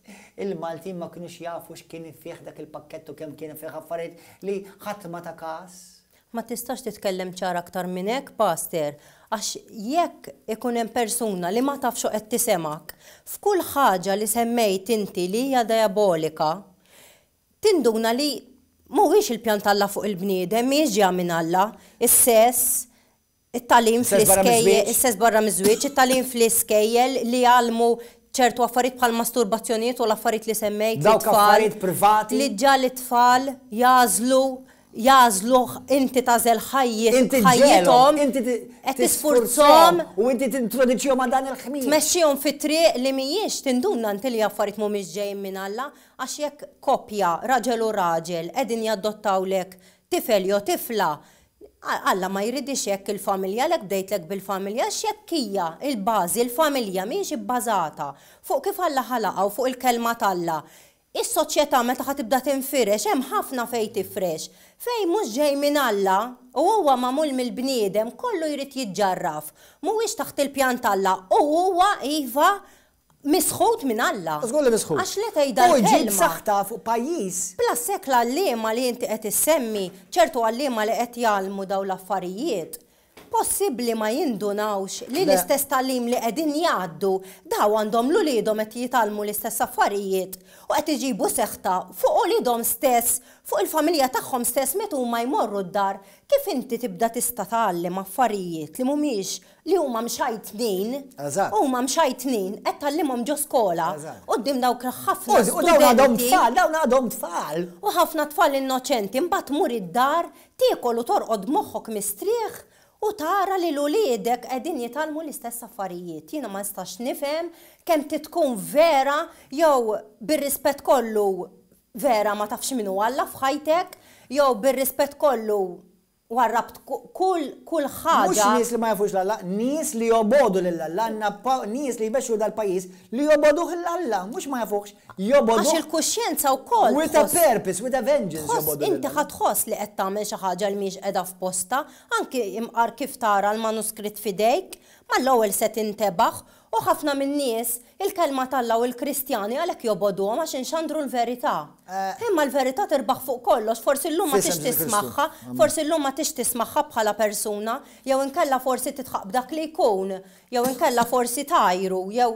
il-Maltin ma kinux jafu x'kien fih dak il-pakkett u kemm kien fih affarijiet li ħadd ma ta kas. Ma tistax titkellem ċar aktar minn hekk, Pastor, għax jekk ikun hemm persuna li ma tafx u qed tisemgħek, f'kull ħaġa li semmejt inti li hija diabolika, tinduna li mhuwiex il-pjan t'Alla fuq il-bniedem, mhijiex ġejja minn Alla, is-sess, it-tagħlim fl-iskejjel, is-sess barra miż-żwieġ, it-tagħlim fl-iskejjel li jgħallmu ċertu affarijiet bħal masturbazzjonijiet u l-affarijiet li semmejt Dawk affarijiet privati. Li ġa lit-tfal jagħżlu, jagħżlu, inti tagħżel ħajjithom, inti qed tisfurzhom u inti tintroduċihom għal dan il-ħmir. Tmexxihom fi triq li mhijiex, tinduna inti li affarijiet mhumiex ġejjin minn Alla, għax jekk koppja, raġel u raġel, qegħdin jadottawlek tifel jew tifla, Alla ma jridhiex hekk il-familja, għalhekk bdejtlek bil-familja, għax jekk hija l-bażi, l-familja mhijiex ibbażata fuq kif Alla ħalaqha u fuq il-kelma t'Alla, is-soċjetà meta ħa tibda tinfirex hemm ħafna fejn tifrex, fejn mhux ġej minn Alla u huwa magħmul mill-bniedem kollu jrid jiġġarraf, mhuwiex taħt il-pjan t'Alla u huwa iva Misħut minn Alla. Żgur li misħut. Għax le tgħidha U jġib l-kelma. saħta fuq pajjiż. Plus hekk l-għalliema li inti qed issemmi, ċertu għalliema li qed jgħallmu dawn l-affarijiet, possibbli ma jindunawx li l-istess tagħlim li qegħdin jgħaddu, dawn għandhom l-uliedhom qed jitgħallmu l-istess affarijiet u qed iġibu seħta fuq uliedhom stess, fuq il-familja tagħhom stess meta huma jmorru d-dar. Kif inti tibda tista' tgħallem affarijiet li mhumiex li huma mxajtnin, huma mxajtnin, qed tgħallimhom ġo skola, quddiem dawk il-ħafna studenti. U dawn għadhom tfal, dawn għadhom tfal. U ħafna tfal innoċenti, imbagħad tmur id-dar, tiekol u torqod b'moħħok mistrieħ u tara lil uliedek qegħdin jitgħallmu l-istess affarijiet. Jiena ma nistax nifhem kemm trid tkun vera jew bir-rispett kollu vera ma tafx min hu Alla f'ħajtek jew bir-rispett kollu Warrabt kull kull ħaġa. Mhux nies li ma jafux 'l Alla, nies li jobogħdu lil Alla, għandna nies li jmexxu dal-pajjiż li jobogħduh 'l Alla, mhux ma jafuhx, jobogħduh. Għax il-kuxjenza wkoll With a purpose, with a vengeance jobogħdu lil Alla. Inti ħa tħoss li qed tagħmel xi ħaġa li mhijiex qiegħda f'postha, anki imqar kif tara l-manuskritt f'idejk, mal-ewwel se tintebaħ U ħafna min-nies, il-Kelma t'Alla u l-Kristjani għalhekk jobogħduhom għax inxandru l-verità. Imma l-verità tirbaħ fuq kollox, forsi llum ma tix tismagħha, forsi llum ma tix tismagħha bħala persuna, jew inkella forsi tidħaq b'dak li jkun, jew inkella forsi tgħajru, jew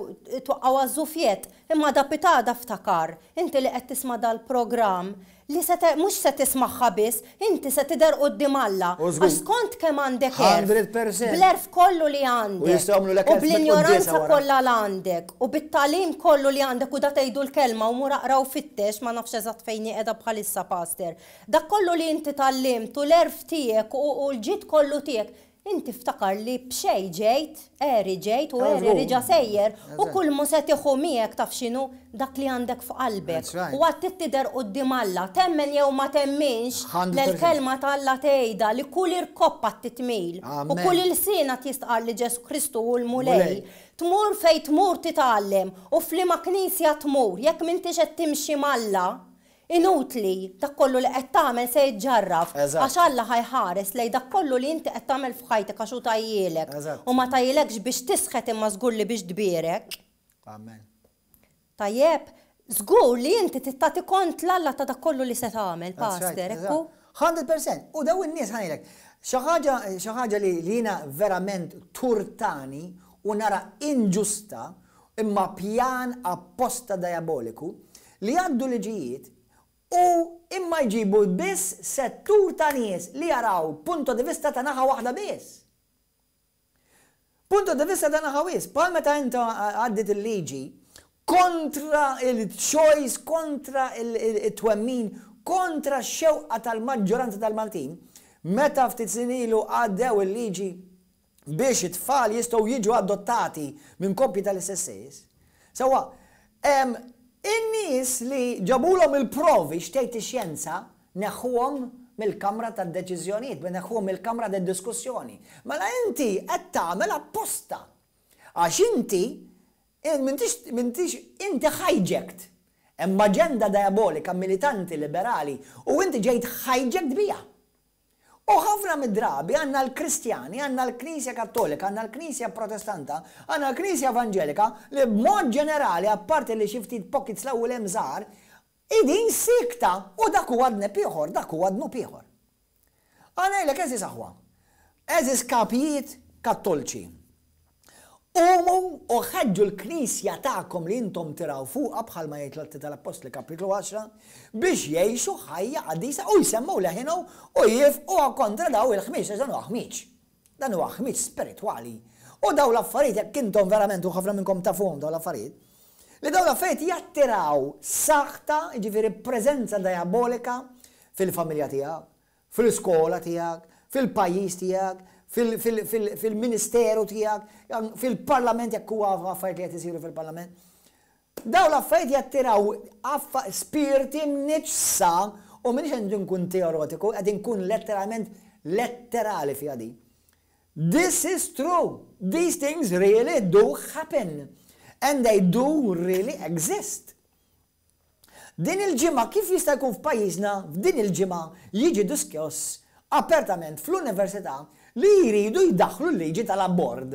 twaqqgħu għaż-żufjett, imma da pitgħada ftakar, inti li qed tisma' dal-programm, Li se mhux se tismagħha biss, inti se tidher quddiem Alla. Għax skont kemm għandek għerf, bl-għerf kollu li għandek, u bl-injoranza kollha l għandek, u bit-tagħlim kollu li għandek u da tgħidu l-kelma u mur aqra u fittex, ma nafx eżatt fejn hi qiegħda bħalissa Pastor. Dak kollu li inti tgħallimt u l-għerf tiegħek u l-ġid kollu tiegħek, Inti ftakar li b'xejn ġejt, għeri ġejt u għeri riġa' sejjer, u kull mhu se tieħu miegħek taf x'inhu? Dak li għandek f'qalbek. U għad trid tidher quddiem Alla, temmen jew ma temminx, le l-Kelma ta' Alla tgħidha li kull irkopp għad titmil, u kull ilsien għad jistqarr li Ġesù Kristu hu l-Mulej. Tmur fejn tmur titgħallem, u f'liema knisja tmur, jekk m'intix qed timxi m'Alla, Inutli, dak kollu li qed tagħmel se jiġġarraf. Għax Alla ħa jħares lejn dak kollu li inti qed tagħmel f'ħajtek għax hu tajjielek. U ma tajjilekx biex tisħet imma żgur li biex tbierek. Amen. Tajjeb? Żgur li inti trid tagħti kont 'l Alla ta' dak kollu li se tagħmel, Pastor, hekk hu? 100%. U dawn in-nies ħa ngħidlek, xi ħaġa xi ħaġa li jiena verament turtani u nara inġusta imma pjan apposta dajaboliku li jgħaddu liġijiet u imma jġibu biss settur ta' nies li jaraw punto di vista ta' naħa waħda biss. Punto di vista ta' naħa biss. Bħal meta inta għaddiet il-liġi kontra il-choice, kontra it-twemmin, kontra x-xewqa tal-maġġoranza tal-Maltin, meta ftit snin ilu għaddew il-liġi biex it-tfal jistgħu jiġu adottati minn koppji tal-istess sess, sewwa, in-nies li ġabulhom il-provi x'tgħid ix-xjenza neħħuhom mill-kamra tad-deċiżjonijiet, neħħuhom mill-kamra tad-diskussjoni. Mela inti qed tagħmel apposta. Għax inti m'intix m'intix inti hijacked. Hemm aġenda diabolika militanti liberali u inti ġejt hijacked biha. U ħafna mid-drabi għandna l-Kristjani, għandna l-Knisja Kattolika, għandna l-Knisja Protestanta, għandna l-Knisja Evanġelika li b'mod ġenerali, apparti li xi ftit pockets 'l hawn u 'l hemm żgħar, qegħdin siekta u dak huwa dneb ieħor, dak huwa dnub ieħor. Ħa ngħidlek għeżież aħwa, għeżież kapijiet Kattolċi, qumu u ħeġġu l-Knisja tagħkom li intom tirgħu fuqha bħalma jgħid l-Atti tal-Appostli kapitlu 10, biex jgħixu ħajja qaddisa u jsemmgħu leħinhom u jiefqu kontra daw il-ħmieġ għax dan huwa ħmieġ. Dan huwa ħmieġ spiritwali. U dawn l-affarijiet jekk intom verament u ħafna minnkom tafuhom dawn l-affarijiet, li dawn l-affarijiet jattiraw saħta, jiġifieri preżenza diabolika fil-familja tiegħek, fl-iskola tiegħek, fil-pajjiż tiegħek, fil-ministeru tiegħek, fil-parlament jekk huwa affarijiet li qed isiru fil-parlament. Dawn l-affarijiet jattiraw spirti mniġġsa u m'iniex qed inkun teoretiku, qed inkun letteralment letterali fiha din. This is true. These things really do happen. And they do really exist. Din il-ġimgħa kif jista' jkun f'pajjiżna f'din il-ġimgħa jiġi diskuss apertament fl-università li jridu jdaħħlu l-liġi tal-abort?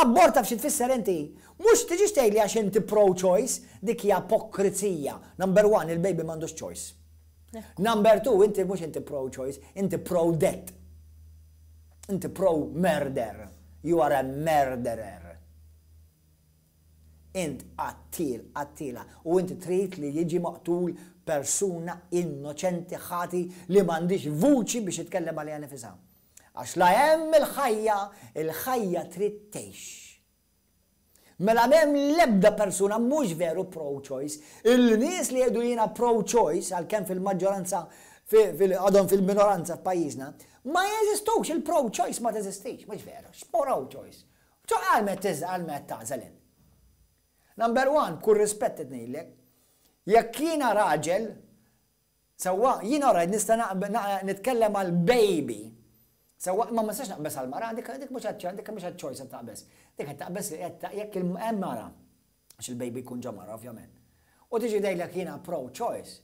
Abort taf xi tfisser inti? Mhux tiġix tgħidli għax inti pro-choice, dik hija ipokrizija. Number one, il-baby m'għandux choice. Number two, inti mhux inti pro-choice, inti pro-death. Inti pro-murder. You are a murderer. Int qattil, qattila, u inti trid li jiġi maqtul persuna innoċenti ħati li m'għandix vuċi biex jitkellem għaliha nifisha. Għax la hemm il-ħajja, il-ħajja trid tgħix. Mela m'hemm l-ebda persuna mhux veru pro-choice. Il-nies li jgħidu jiena pro-choice, għalkemm fil-maġġoranza għadhom fil-minoranza f'pajjiżna, ma jeżistux il-pro-choice ma teżistix, mhux veru, x'pro-choice? ċo għalmet għalmet tagħżel int. Number one, kull rispett qed ngħidlek, jekk jiena raġel, sewwa jiena rajt nista' nitkellem għal baby. Sewwa ma nistax naqbeż għal mara, dik dik mhux dik mhux choice qed taqbeż. Dik qed taqbeż jekk hemm mara, għax il-baby jkun ġo mara ovvjament. U tiġi tgħidlek jiena pro-choice.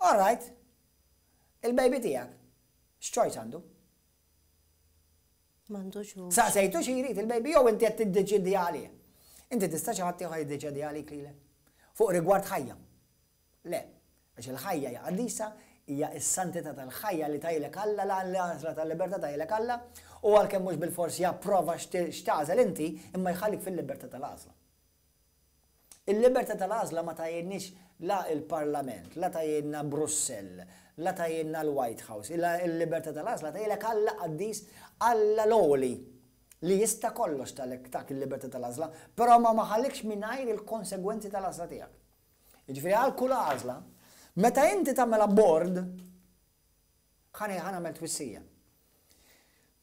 All right, il-baby tiegħek, x'choice għandu? M'għandux vuċi. Saqsejtu xi jrid il-baby jew inti qed tiddeċidi għalih. Inti tista' xi ħadd ieħor jiddeċidi għalik lilek. Fuq rigward ħajja. Le, għax il-ħajja hija qaddisa, hija s-santità tal-ħajja li tajlek Alla, l-għażla tal-libertà tajlek Alla, u għalkemm mhux bilfors japprova x'tagħżel inti, imma jħallik fil-libertà tal-għażla. Il-libertà tal-għażla ma tajjenniex la il-Parlament, la tajjenna Brussell, la tajjenna l-White House. Il-libertà tal-għażla tajlek Alla qaddis, Alla l-għoli li jista' kollox talek tak il-libertà tal-għażla, però ma ħallikx mingħajr il-konsegwenzi tal-għażla tiegħek. Jiġifieri għal kull għażla, meta inti tagħmel abort, ħa nagħmel twissija.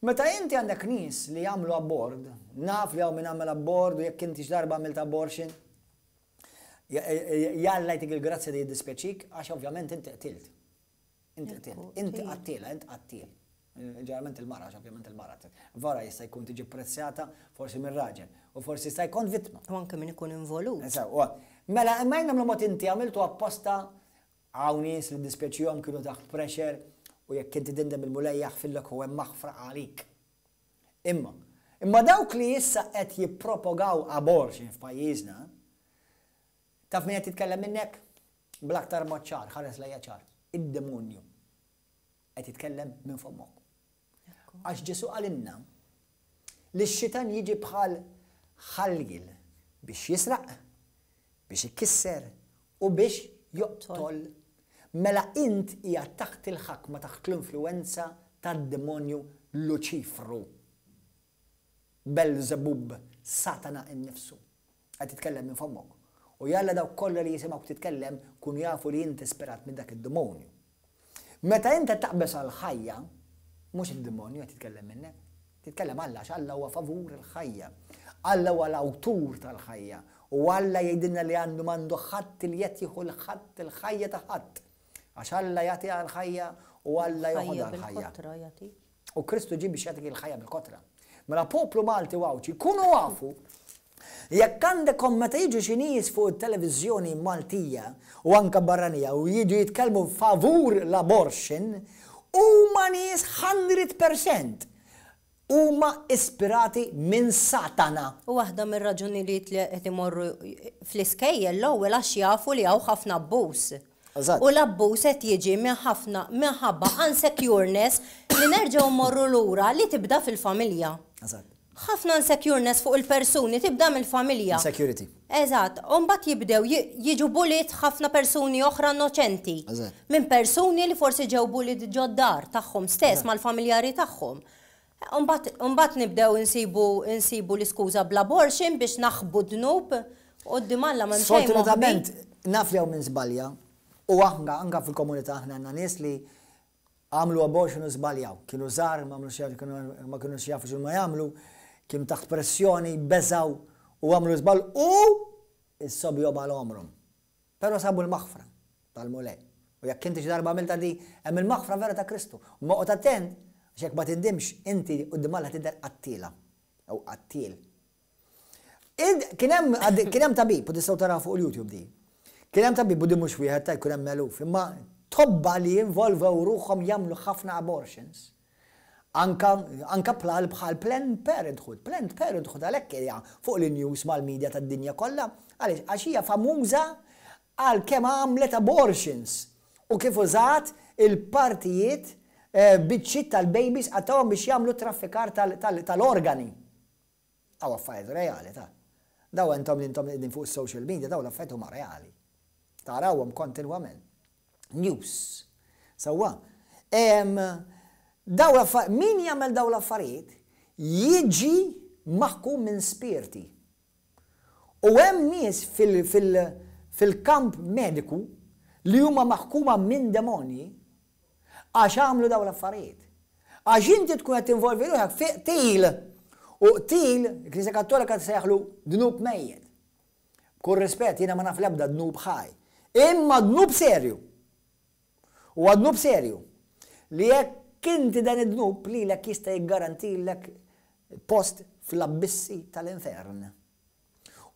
Meta inti għandek nies li jagħmlu abort, naf li hawn min għamel abort u jekk inti x'darba għamilt abortion, jalla jtik il-grazzja li jiddispjaċik għax ovvjament inti qtilt. Inti qtilt. Inti qattila, inti qattil. Ġeneralment il-mara, għax ovvjament il-mara. Vera jista' jkun tiġi prezzjata forsi mir-raġel u forsi jista' jkun vittma. U anke min ikun involut. Mela, imma jien nagħmlu mod inti għamiltu apposta hawn nies li dispjaċihom kienu taħt pressure u jekk inti tindem il-Mulej jaħfirlek u hemm maħfra għalik. Imma, imma dawk li issa qed jippropogaw abortion f'pajjiżna, taf min qed jitkellem minnek? Bl-aktar mod ċar, ħares lejja ċar, id-demonju qed jitkellem minn fommok. Għax Ġesu qalilna li x-xitan jiġi bħal ħalliel biex jisraq, biex ikisser u biex joqtol. Mela int hija taħt il-ħakma, taħt l-influenza tad-demonju Luċifru. Belzebub, Satana innifsu. Qed titkellem minn fommok. U jalla dawk kollha li jisimgħuk titkellem kunu jafu li inti ispirat minn dak id-demonju. Meta inti taqbeż għal ħajja, mhux id-demonju qed jitkellem minnek, titkellem Alla għax Alla huwa favur il-ħajja. Alla huwa l-awtur tal-ħajja. U Alla jgħidilna li għandu m'għandu ħadd il jett jieħu l-ħadd il-ħajja ta' ħadd. Għax Alla jagħtiha l-ħajja u Alla joħodha l-ħajja. U Kristu ġie biex jagħtik il-ħajja bil-kotra. Mela poplu Malti u Għawdxi kunu għafu jekk għandkom meta jiġu xi nies fuq it-televiżjoni Maltija u anka barranija u jiġu jitkellmu favur l-abortion, huma nies 100% huma ispirati minn Satana. U waħda mir-raġunijiet li qed imorru fl-iskejjel l-ewwel għax jafu li hawn ħafna abbuż. Eżatt. U l-abbuż qed jiġi minn ħafna minħabba unsecureness li nerġgħu mmorru lura li tibda fil-familja. Eżatt. Ħafna unsecureness fuq il-persuni tibda mill-familja. Insecurity. Eżatt, u mbagħad jibdew jiġu bullied ħafna persuni oħra innoċenti. Eżatt. Minn persuni li forsi ġew bullied ġod-dar tagħhom stess mal-familjari tagħhom. U mbagħad nibdew insibu insibu l-iskuża bl-abortion biex naħbu d-dnub, quddiem Alla m'hemm xejn moħbi. Sfortunatament naf li hawn min żbalja u aħna anke fil-komunità aħna għandna nies li għamlu abortion u żbaljaw. Kienu żgħar, ma għamlux ma kinux jafu x'inhuma jagħmlu, kienu taħt pressjoni, beżgħu u għamlu żball u ssobjhom għal għomrhom. Però sabu l-maħfra tal-Mulej. U jekk inti xi darba għamiltha di, hemm il-maħfra vera ta' Kristu. Imma oqgħod attent, għax jekk ma tindimx, inti quddiem Alla tidher qattiela jew qattiel. Kien hemm kien hemm tabib, u tistgħu taraw fuq il-YouTube di. Kien hemm tabib u din mhux wieħed ta' jkun hemm eluf, imma tobba li jinvolvew ruħhom jagħmlu ħafna abortions. Anka anka bħal bħal Planned Parenthood. Planned Parenthood għalhekk hija fuq l-news mal-media tad-dinja kollha. Għaliex? Għax hija famuża għal kemm għamlet abortions u kif użat il-partijiet biċċiet tal-babies qattgħuhom biex jagħmlu traffikar tal-organi. Dawn affarijiet reali ta'. Dawn intom li intom qegħdin fuq is-social media dawn l-affarijiet huma reali. Tarawhom kontinwament. News. Sewwa. Dawn l-affarijiet, min jagħmel dawn l-affarijiet jiġi maħkum minn spirti. U hemm nies fil-kamp mediku li huma maħkuma minn demonji għax għamlu dawn l-affarijiet. Għax inti tkun qed tinvolvi ruħek fi qtil. U qtil, il-Knisja Kattolika tsejjaħlu dnub mejjet. B'kull rispett, jiena ma naf l-ebda dnub ħaj. Imma dnub serju. Huwa dnub serju. Li jekk inti dan id-dnub lilek jista' jiggarantilek post fl-abbissi tal-infern.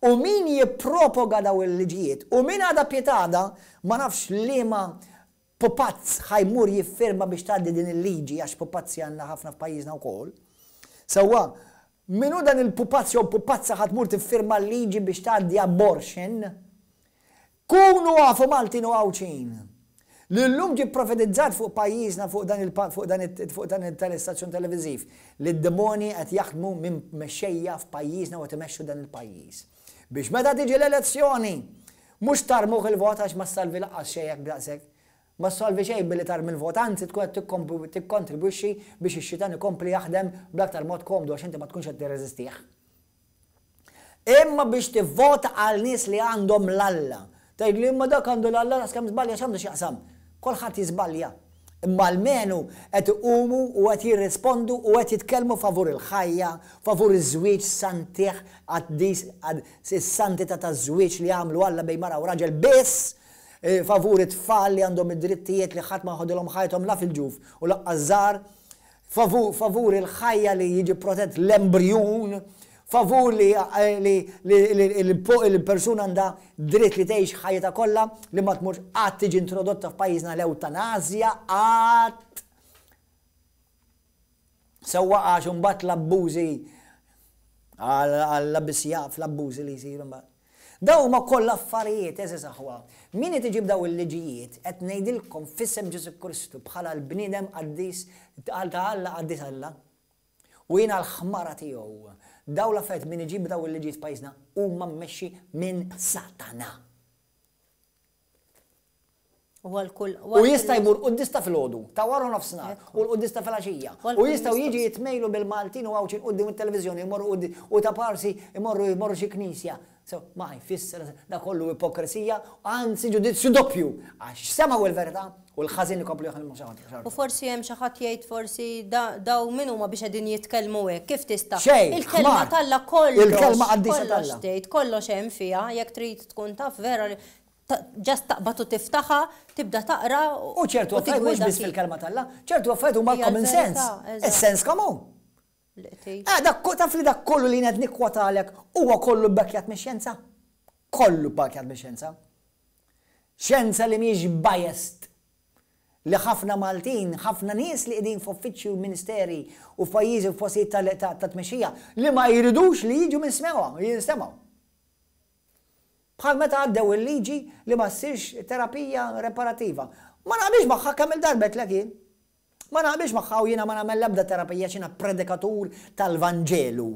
U min jippropoga daw il-liġijiet u min għada pitgħada ma nafx liema pupazz ħa jmur jiffirma biex tgħaddi din il-liġi għax pupazzi għandna ħafna f'pajjiżna wkoll. Sewwa, min hu dan il-pupazz jew pupazza ħa tmur tiffirma l-liġi biex tgħaddi abortion? Kunu afu Maltin u Għawdxin li llum ġie pprofetizzat fuq pajjiżna fuq dan il fuq dan fuq dan it-telestazzjon televiżiv li d-demonji qed jaħdmu minn mexxejja f'pajjiżna u qed imexxu dan il-pajjiż. Biex meta tiġi l-elezzjoni mhux tarmuh il-vot għax ma ssalvi lanqas xejn jekk b'daqshekk. Ma ssolvi xejn billi tarmi l-vot anzi tkun qed tikkontribwixxi biex ix-xitan ikompli jaħdem bl-aktar mod komdu għax inti ma tkunx qed tirreżistih. Imma biex tivvota għal nies li għandhom 'l Alla. Tgħidli imma dak għandu 'l Alla daqs kemm żbalja x'għandu x'jaqsam? Kulħadd jiżbalja. Imma almenu qed iqumu u qed jirrispondu u qed jitkellmu favur il-ħajja, favur iż-żwieġ santih, qaddis, is-santità taż-żwieġ li għamlu Alla bejn mara u raġel biss, favur it-tfal li għandhom id-drittijiet li ħadd ma jeħodilhom ħajthom la fil-ġuf u lanqas żgħar, favur favur il-ħajja li jiġi protett l-embrijun, favur li li l-persuna għandha dritt li tgħix ħajjitha kollha li ma tmurx qatt tiġi introdotta f'pajjiżna l-ewtanasja qatt. Sewwa għax imbagħad l-abbużi Alla biss jaf l-abbużi li jsiru mbagħad. Dawn huma kollha affarijiet, għeżież aħwa. Min qed iġib dawn il-liġijiet, qed ngħidilkom f'isem Ġesù Kristu bħala l-bniedem qaddis ta' Alla qaddis Alla, u jiena l-ħmara tiegħu. Dawn l-affarijiet min iġib dawn il-liġijiet f'pajjiżna huma mmexxi minn Satana. U għal kull. U jista' jmur quddies ta' filgħodu, ta' wara nofsinhar, u l-quddies ta' filgħaxija. U jistgħu jiġi jitmejlu bil-Maltin u Għawdxin quddiem it-televiżjoni jmorru quddi u ta' parsi jmorru jmorru xi knisja. So, ma jfisser da kollu ipokresija, anzi ġudizzju doppju, għax semgħu l-verità u l-ħażin ikomplu jaħdmu xorta. U forsi hemm xi ħadd jgħid forsi daw min huma biex qegħdin jitkellmu hekk, kif tista'? Xejn, Il-kelma ħmar. t'Alla kollox, Il-kelma qaddisa kollox t'Alla. tgħid, kollox hemm fiha, jekk trid tkun taf vera li Just taqbad u tiftaħha, tibda taqra u U ċertu affarijiet mhux biss fil-Kelma t'Alla, ċertu affarijiet huma l-common sense, is-sens komun. Eh, dak taf li dak kollu li jien qed nikkwotalek huwa kollu bbakkjat mix-xjenza? Kollu bbakkjat mix-xjenza. Xjenza li mhijiex biased. Li ħafna Maltin, ħafna nies li qegħdin f'uffiċċji u ministeri u f'pajjiżi u f'postijiet ta' tmexxija li ma jridux li jiġu mismewha, jinstemgħu. Bħal meta għaddew il-liġi li ma ssirx terapija reparativa. Ma naqbilx magħha kemm-il darba għedtlek jien. Ma naqbilx magħha u jiena ma nagħmel l-ebda terapija għax jiena predikatur tal-Vanġelu.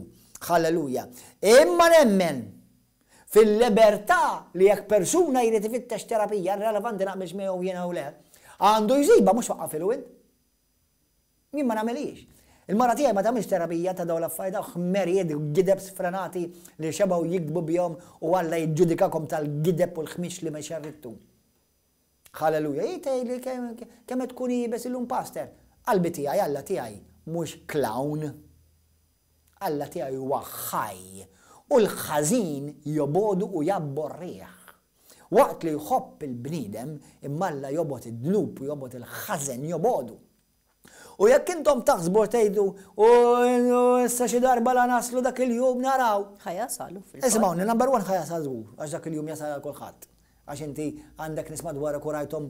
Halleluja. Imma nemmen fil-libertà li jekk persuna jrid ifittex terapija, irrelevanti naqbilx miegħu jiena jew le, għandu jsibha mhux twaqqafhilu int. Jien ma nagħmilhiex. Il-mara tiegħi ma tagħmilx terapija ta' dawn l-affarijiet, dawn ħmerijiet, gideb sfrenati li xebgħu jigdbu bihom u Alla jiġġudikakom tal-gideb u l-ħmieġ li ma xerridtu. Halleluja. Hi tgħidli kemm qed tkun iebes illum pastor. Qalbi tiegħi, Alla tiegħi mhux clown. Alla tiegħi huwa ħaj u l-ħażin jobogħdu u jabborrih. Waqt li jħobb il-bniedem, imma Alla jobgħod id-dnub u jobgħod il-ħażen jobogħdu. U jekk intom taħsbu u tgħidu, u issa xi darba la naslu dak il-jum naraw. Ħa jasal hu fil-fatt. Isimgħuni, number one ħa jasal żgur, għax dak il-jum jasal għal kulħadd. Għax inti għandek nies madwarek u rajthom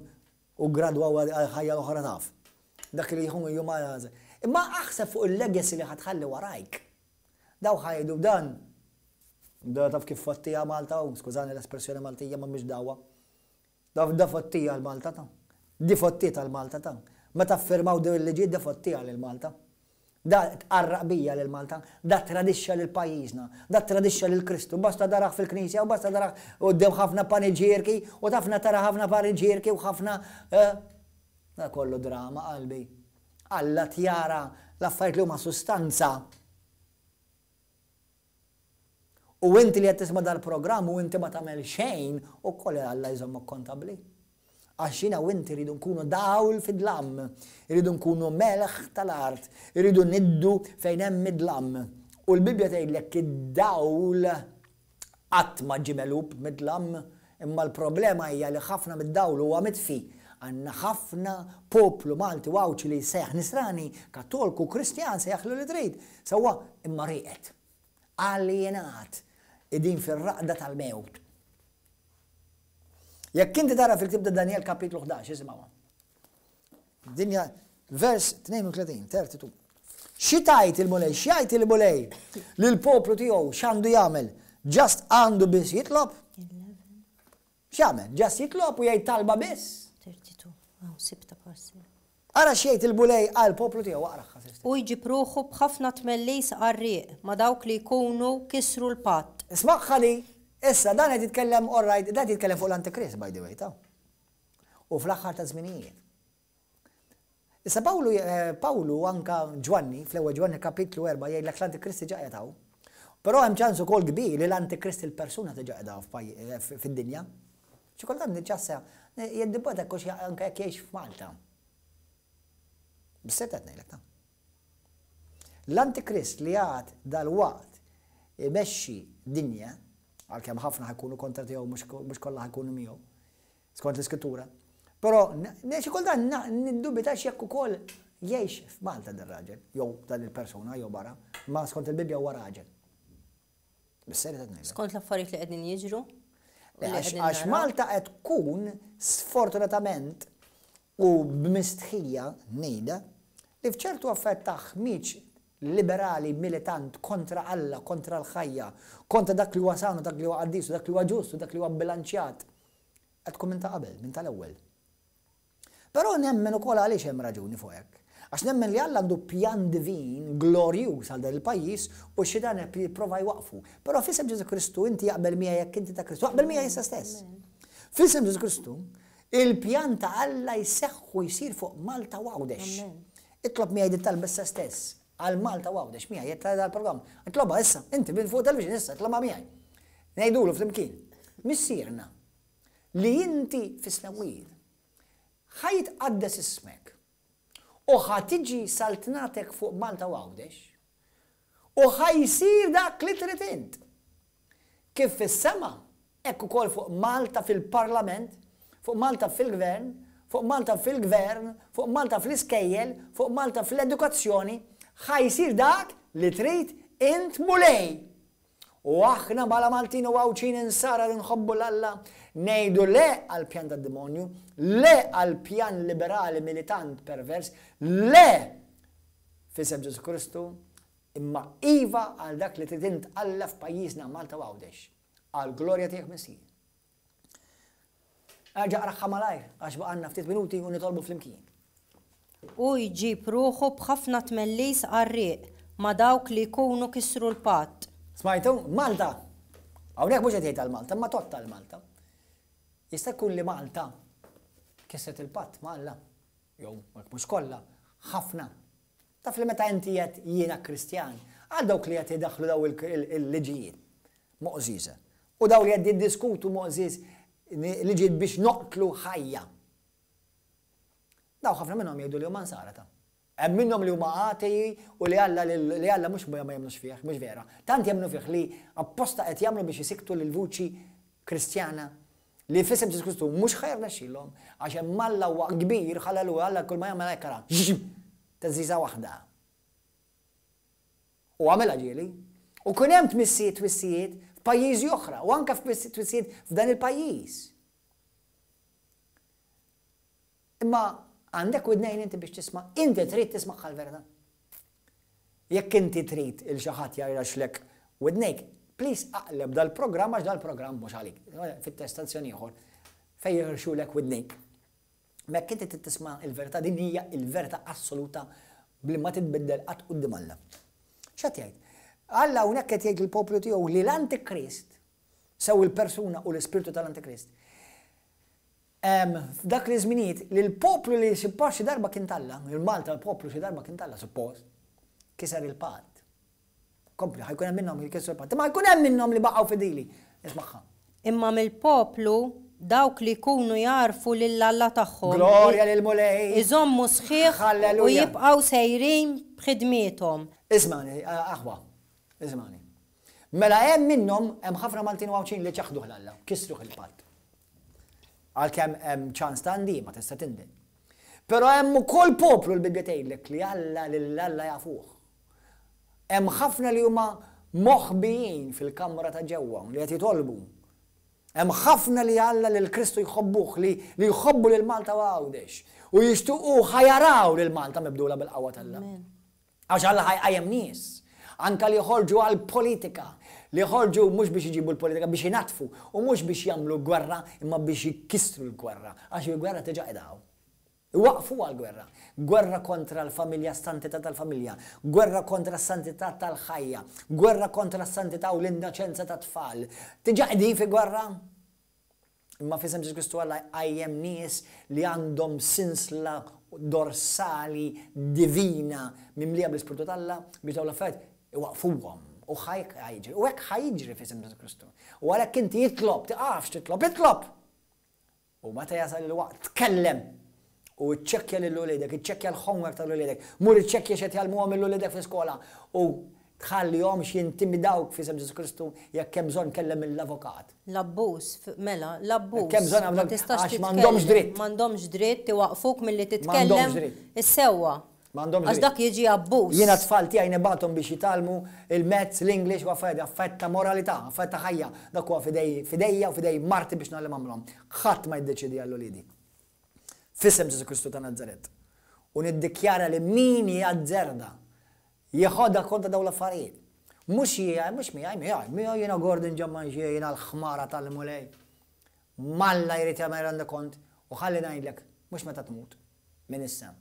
u ggradwaw għall-ħajja l-oħra taf. Dak il-jum Imma aħseb fuq il-legacy li ħa tħalli warajk. Dawn ħa jgħidu dan, da taf kif fottieha Malta u, skużani l-espressjoni Maltija ma mhix dagħwa. Da da fottieha l-Malta ta. Di fottietha l-Malta ta. Meta ffirmaw dawn il-liġijiet da fottieha lil Malta. Da tqarraq bija lil Malta, da ttradixxa lil pajjiżna, da ttradixxa lil Kristu, basta darah fil-knisja u basta darah quddiem ħafna paniġierki u tafna tara ħafna paniġierki u ħafna eh. Da kollu drama qalbi. Alla tjara l-affarijiet li huma sustanza. U inti li qed tisma' dal-programm u inti ma tagħmel xejn, ukoll Alla jżommok kontabbli. Għax jiena u inti rridu nkunu dawl fid-dlam, irridu nkunu melħ tal-art, irridu niddu fejn hemm id-dlam. U l-Bibbja tgħidlek id-dawl Qatt ma ġie megħlub mid-dlam, imma l-problema hija li ħafna mid-dawl huwa mitfi. Għandna ħafna poplu Malti u Għawdxi li jissejjaħ Nisrani, Kattolku, Kristjan, sejjaħlu li trid, sewwa, imma rieqed. Aljenat. Qegħdin fir-raqda tal-mewt. Jekk inti tara fil-ktieb ta' Danjel kapitlu 11, isimgħuha. Dinja, vers 32, 32. Xi tgħid il-Mulej, x'jgħid il-Mulej lill-poplu tiegħu x'għandu jagħmel? Just għandu biss jitlob? X'jagħmel? Just jitlob u jgħid talba biss? 32, hawn sibta parsi. Ara x'jgħid il-Mulej għall-poplu tiegħu, aqraha sister. U jġib ruħu b'ħafna tmellis qarrieq ma' dawk li jkunu kisru l-patt. Ismagħha di, issa dan qed jitkellem all right, dan qed jitkellem fuq l-Antikrist by the way, ta. U fl-aħħar taż-żminijiet. Issa Pawlu, Pawlu anka Ġwanni, fl-ewwel Ġwanni kapitlu 4 jgħidlek l-Antikrist diġà qiegħed hawn. Però hemm ċans ukoll kbir li l-Antikrist il-persuna diġà qiegħda fid-dinja. Xi kultant niċċassa jiddibata hekk hux anke jekk jgħix f'Malta. Bis-serjetà qed ngħidlek ta. L-Antikrist li għad dalwaqt imexxi dinja, għalkemm ħafna ħa jkunu kontra tiegħu mhux kollha ħa jkunu miegħu, skont l-Iskrittura. Però xi kultant niddubita x'jekk ukoll jgħix f'Malta dan raġel, jew dan il-persuna jew barra, ma skont il-Bibbja huwa raġel. Bis-serjetà ngħidlek. Skont l-affarijiet li qegħdin jiġru. Għax Malta qed tkun sfortunatament u b'mistħija ngħidha li f'ċertu affarijiet ta' ħmieġ liberali militant kontra Alla, kontra l-ħajja, kontra dak li huwa san u dak li huwa qaddis u dak li huwa ġust u dak li huwa bbilanċjat. Qed tkun minn ta' qabel, minn tal-ewwel. Però nemmen ukoll għaliex hemm raġuni fuq hekk. Għax nemmen li Alla għandu pjan divin glorjuż għal dan il-pajjiż u x-xitan qed jipprova jwaqqfu. Però f'isem Ġesù Kristu inti aqbel miegħi jekk inti ta' Kristu, aqbel miegħi issa stess. F'isem Ġesù Kristu, il-pjan ta' Alla jseħħ u jsir fuq Malta u Għawdex. Itlob miegħi dit-talba issa stess għal Malta u Għawdex miegħi qed tara dal-programm. Itlobha issa, inti minn fuq television issa itlobha miegħi. Ngħidulu flimkien. Missierna li inti fis-smewwiet, ħa jitqaddes ismek u ħa tiġi saltnatek fuq Malta u Għawdex u ħa jsir dak li trid int. Kif fis-sema, hekk ukoll fuq Malta fil-Parlament, fuq Malta fil-Gvern, fuq Malta fil-Gvern, fuq Malta fl-iskejjel, fuq Malta fl-edukazzjoni, ħa jsir dak li trid int Mulej! U aħna bħala Maltin u Għawdxin Insara li nħobbu 'l Alla, ngħidu le għall-pjan tad-dimonju, le għall-pjan liberali militant pervers, le f'isem Ġesù Kristu, Imma iva għal dak li trid int Alla f'pajjiżna Malta u Għawdex. Għall-glorja tiegħek Missier. Erġa' aqraha malajr għax baqgħalna ftit minuti u nitolbu flimkien. Hu jġib ruħu b'ħafna tmellis qarrieq ma' dawk li jkunu kisru l-patt. Smajtu? Malta! Hawnhekk mhux qed jgħid għal Malta, imma tgħodd għal Malta. Jista' jkun li Malta kisret il-patt ma' Alla, jew jekk mhux kollha, ħafna. Taf li meta inti għedt jiena Kristjan, għal dawk li qed idaħħlu daw il-liġijiet moqżieża u dawn li qed jiddiskutu moqżież liġijiet biex noqtlu ħajja. Dawn ħafna minnhom jgħidu li huma Nsara ta. Hemm minnhom li huma atei u li Alla li Alla mhux ma jemmnux fih, mhux vera. Tant jemmnu fih li apposta qed jagħmlu biex isikktu lill-vuċi Kristjana li f'isem Ġesù Kristu mhux ħa jirnexxilhom għax hemm Alla huwa kbir, ħalleluja, Alla kull ma jagħmel hekk ara, teżżiża waħda. U għamilha ġieli. U kien hemm tmissijiet twissijiet f'pajjiżi oħra u anke twissijiet f'dan il-pajjiż. Imma għandek widnejn inti biex tisma', inti trid tismagħha l-verità. Jekk inti trid il xi ħadd jgħajraxlek widnejk, please aqleb dal-programm għax dal-programm mhux għalik. Fittex stazzjon ieħor fejn jgħirxulek widnejk. Ma jekk inti trid tisma' l-verità, din hija l-verità assoluta li ma titbiddel qatt quddiem Alla. X'qed jgħid? Alla hawnhekk qed jgħid lill-poplu tiegħu li l-Antikrist, sew il-persuna u l-ispirtu tal-Antikrist, f'dak l-iżminijiet li l-poplu li suppost xi darba kien t'Alla, il-Malta l-poplu xi darba kien t'Alla suppost, kiser il-patt. Kompli, ħa jkun hemm minnhom li kisru l-patt, imma jkun hemm minnhom li baqgħu fidili. Ismagħha. Imma mill-poplu dawk li jkunu jagħrfu lil Alla tagħhom. Glorja lill-Mulej! Iżommu sħiħ u jibqgħu sejrin b'ħidmiethom. Ismagħni, aħwa, ismagħni. Mela hemm minnhom, hemm ħafna Maltin u Għawdxin li ċaħduh 'l Alla, kisruh il-patt. Għalkemm hemm ċans ta' ndiema, tista' tindem. Però hemm ukoll poplu l-Bibbja tgħidlek li Alla lil Alla jafuh. Hemm ħafna li huma moħbijin fil-kamra ta' ġewwa li qed jitolbu. Hemm ħafna li Alla lil Kristu jħobbuh, li li jħobbu lil Malta u Għawdex u jixtiequ ħa jaraw lil Malta mibdula bil-qawwa t'Alla. Għax Alla ħa jqajjem nies, anke li joħorġu għall-politika, li joħorġu mhux biex iġibu l-politika, biex inaddfu u mhux biex jagħmlu gwerra imma biex jkissru l-gwerra, għax il-gwerra diġà qiegħda hawn. Iwaqqfuha l-gwerra. Gwerra kontra l-familja, s-santità tal-familja. Gwerra kontra s-santità tal-ħajja. Gwerra kontra s-santità u l-innoċenza tat-tfal. Diġà qegħdin fi gwerra. Imma f'isem Ġesù Kristu Alla jqajjem nies li għandhom sinsla dorsali divina mimlija bl-Ispirtu t'Alla biex dawn l-affarijiet iwaqqfuhom. U ħa jiġri. U hekk ħa jiġri f'isem Ġesù Kristu. U għalhekk inti itlob, tiqafx titlob, itlob! U meta jasal il-waqt, tkellem! U iċċekkja lil uliedek, iċċekkja l-homework ta' uliedek, mur iċċekkja x'qed jgħallmuhom lil uliedek fl-iskola u tħallihomx jintimidawk f'isem Ġesù Kristu, jekk hemm bżonn kellem lill-avukat. L-abbuż, mela, l-abbuż. Jekk hemm bżonn Ma tistax għax m'għandhomx titkellem, dritt. M'għandhomx dritt iwaqqfuk milli M'għandhomx titkellem dritt. is-sewwa. M'għandhomx Għax dritt. dak jiġi abbuż. Jiena t-tfal tiegħi nibgħathom biex jitgħallmu l-maths, l-English u affarijiet, affarijiet ta' moralità, affarijiet ta' ħajja. Dak huwa f'idej, f'idejja u f'idej marti biex ngħallimhomlhom. Ħadd ma jiddeċiedi għal uliedi. F'isem Ġesù Kristu ta' Nazaret. U niddikjara li min jazzerda jeħodha kontra dawn l-affarijiet. Mhux jiegħi, mhux miegħi, miegħi, miegħi jiena Gordon Ġammanxie, jiena l-ħmara tal-Mulej. M'Alla jrid jagħmel rendikont u ħalli ngħidlek, mhux meta tmut, minn issa.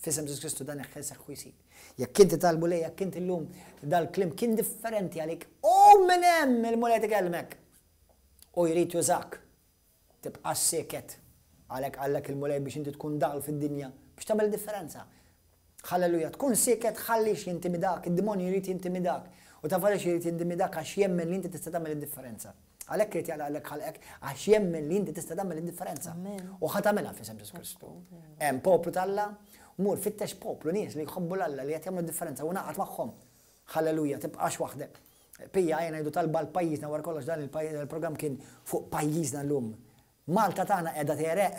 F'isem Ġesù Kristu dan iseħħ u jsir. Jekk inti tal-Mulej, jekk inti llum dal-kliem kien differenti għalik, u minn hemm il-Mulej tikellmek u jrid jużak. Tibqax sieket. Għalhekk qallek il-Mulej biex inti tkun dawl fid-dinja, biex tagħmel differenza. Halleluja. Tkun sieket tħallix jintimidak, id-demonju jrid jintimidak. U taf għaliex jrid jintimidak għax jemmen li inti tista' tagħmel id-differenza. Għalhekk irid jagħlaqlek ħalqek għax jemmen li inti tista' tagħmel id-differenza. U ħa tagħmilha f'isem Ġesù Kristu. Hemm poplu t'Alla, mur fittex poplu nies li jħobbu 'l Alla li qed jagħmlu d-differenza u ngħaqad magħhom. Halleluja, tibqax waħdek. Pija ejja ngħidu talba għal pajjiżna wara kollox dan il-programm kien fuq pajjiżna llum. Malta tagħna qiegħda tegħreq.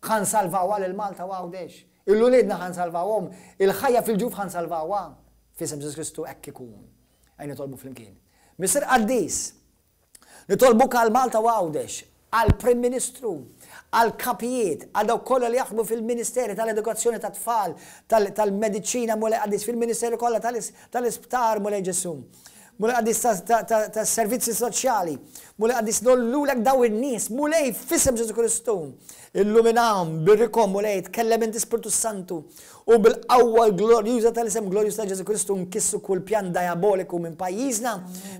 Ħa nsalvawha lil Malta u Għawdex. Il uliedna ħa nsalvawhom. Il-ħajja fil-ġuf ħa nsalvawha. F'isem Ġesù Kristu hekk ikun. Ejja nitolbu flimkien. Missier Qaddis, nitolbuk għal Malta u Għawdex, għall-Prim Ministru, għall-kapijiet, għal dawk kollha li jaħdmu fil-Ministeri tal-Edukazzjoni tat-Tfal, tal-Mediċina, Mulej Qaddis, fil-Ministeri kollha tal-Isptar, Mulej Ġesù. Mulej Qaddis tas-Servizzi Soċjali. Mulej qaddis ngħollulek daw in-nies, Mulej f'isem Ġesù Kristu. Illuminahom, birikhom, Mulej, tkellem inti Spirtu Santu u bil-qawwa l-glorjuża tal-isem glorjuż ta' Ġesù Kristu nkissru kull pjan dajaboliku minn pajjiżna,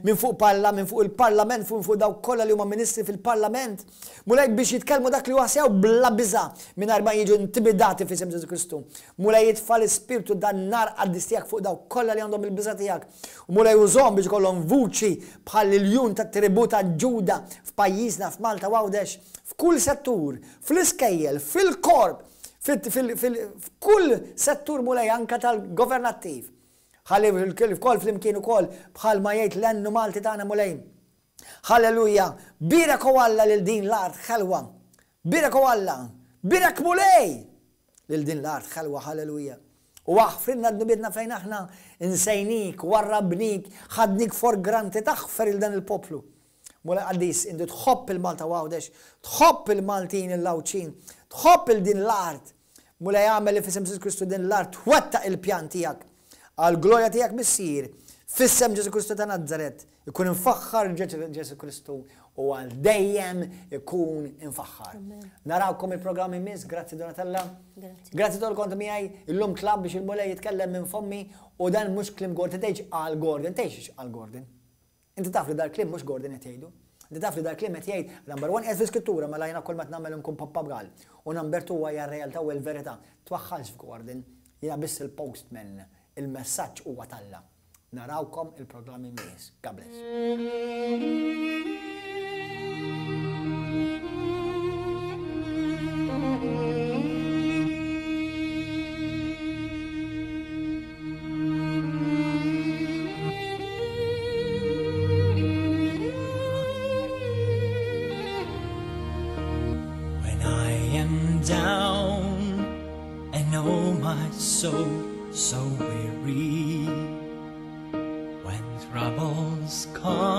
minn fuq parla, minn fuq il-parlament, minn fuq dawk kollha li huma ministri fil-parlament. Mulej biex jitkellmu dak li huwa sew bla biża' mingħajr ma jiġu intimidati f'isem Ġesù Kristu. Mulej itfa' l-ispirtu dan-nar qaddis tiegħek fuq dawk kollha li għandhom il-biża' tiegħek. U Mulej użahom biex ikollhom vuċi bħal iljun tat-tribù ta' Ġuda f'pajjiżna f'Malta u Għawdex, f'kull settur, fl-iskejjel, fil-korp, f'kull settur Mulej anke tal-governattiv. Ħalli lkoll flimkien ukoll bħalma jgħid l-ennu Malti tagħna Mulej. Hallelujah! Bierek o Alla lil din l-art ħelwa. Bierek o Alla! Bierek Mulej! Lil din l-art ħelwa, hallelujah. U aħfrilna dnubietna fejn aħna nsejnik, warrabnik, ħadnik for granted, aħfer lil dan il-poplu. Mulej qaddis, inti tħobb il Malta u Għawdex, tħobb il-Maltin, il-Għawdxin, tħobb il din l-art. Mulej agħmel li f'isem Ġesù Kristu din l-art twettaq il-pjan tiegħek. Għall-glorja tiegħek Missier, f'isem Ġesù Kristu ta' Nazaret, ikun imfaħħar Ġesù Kristu u għal dejjem ikun imfaħħar. Narawkom il-programm imiss, grazzi Donatella. Grazzi tol kont miegħi, illum tlab biex il-Mulej jitkellem minn fommi u dan mhux kliem Gordon, tgħidx għal Gordon, tgħidx għal Gordon. Inti taf li dal-kliem mhux Gordon qed jgħidu. Inti taf li dal-kliem qed jgħid, number one qiegħed fl-iskrittura mela jiena kull ma qed nagħmel inkun pappagall. U number two hija r-realtà u l-verità. Twaħħalx f'Gordon. Jiena biss il-postman. Il-messaġġ huwa t'Alla. Narawkom il-programm imiss. God bless. When I am down and oh my soul so weary, when troubles come.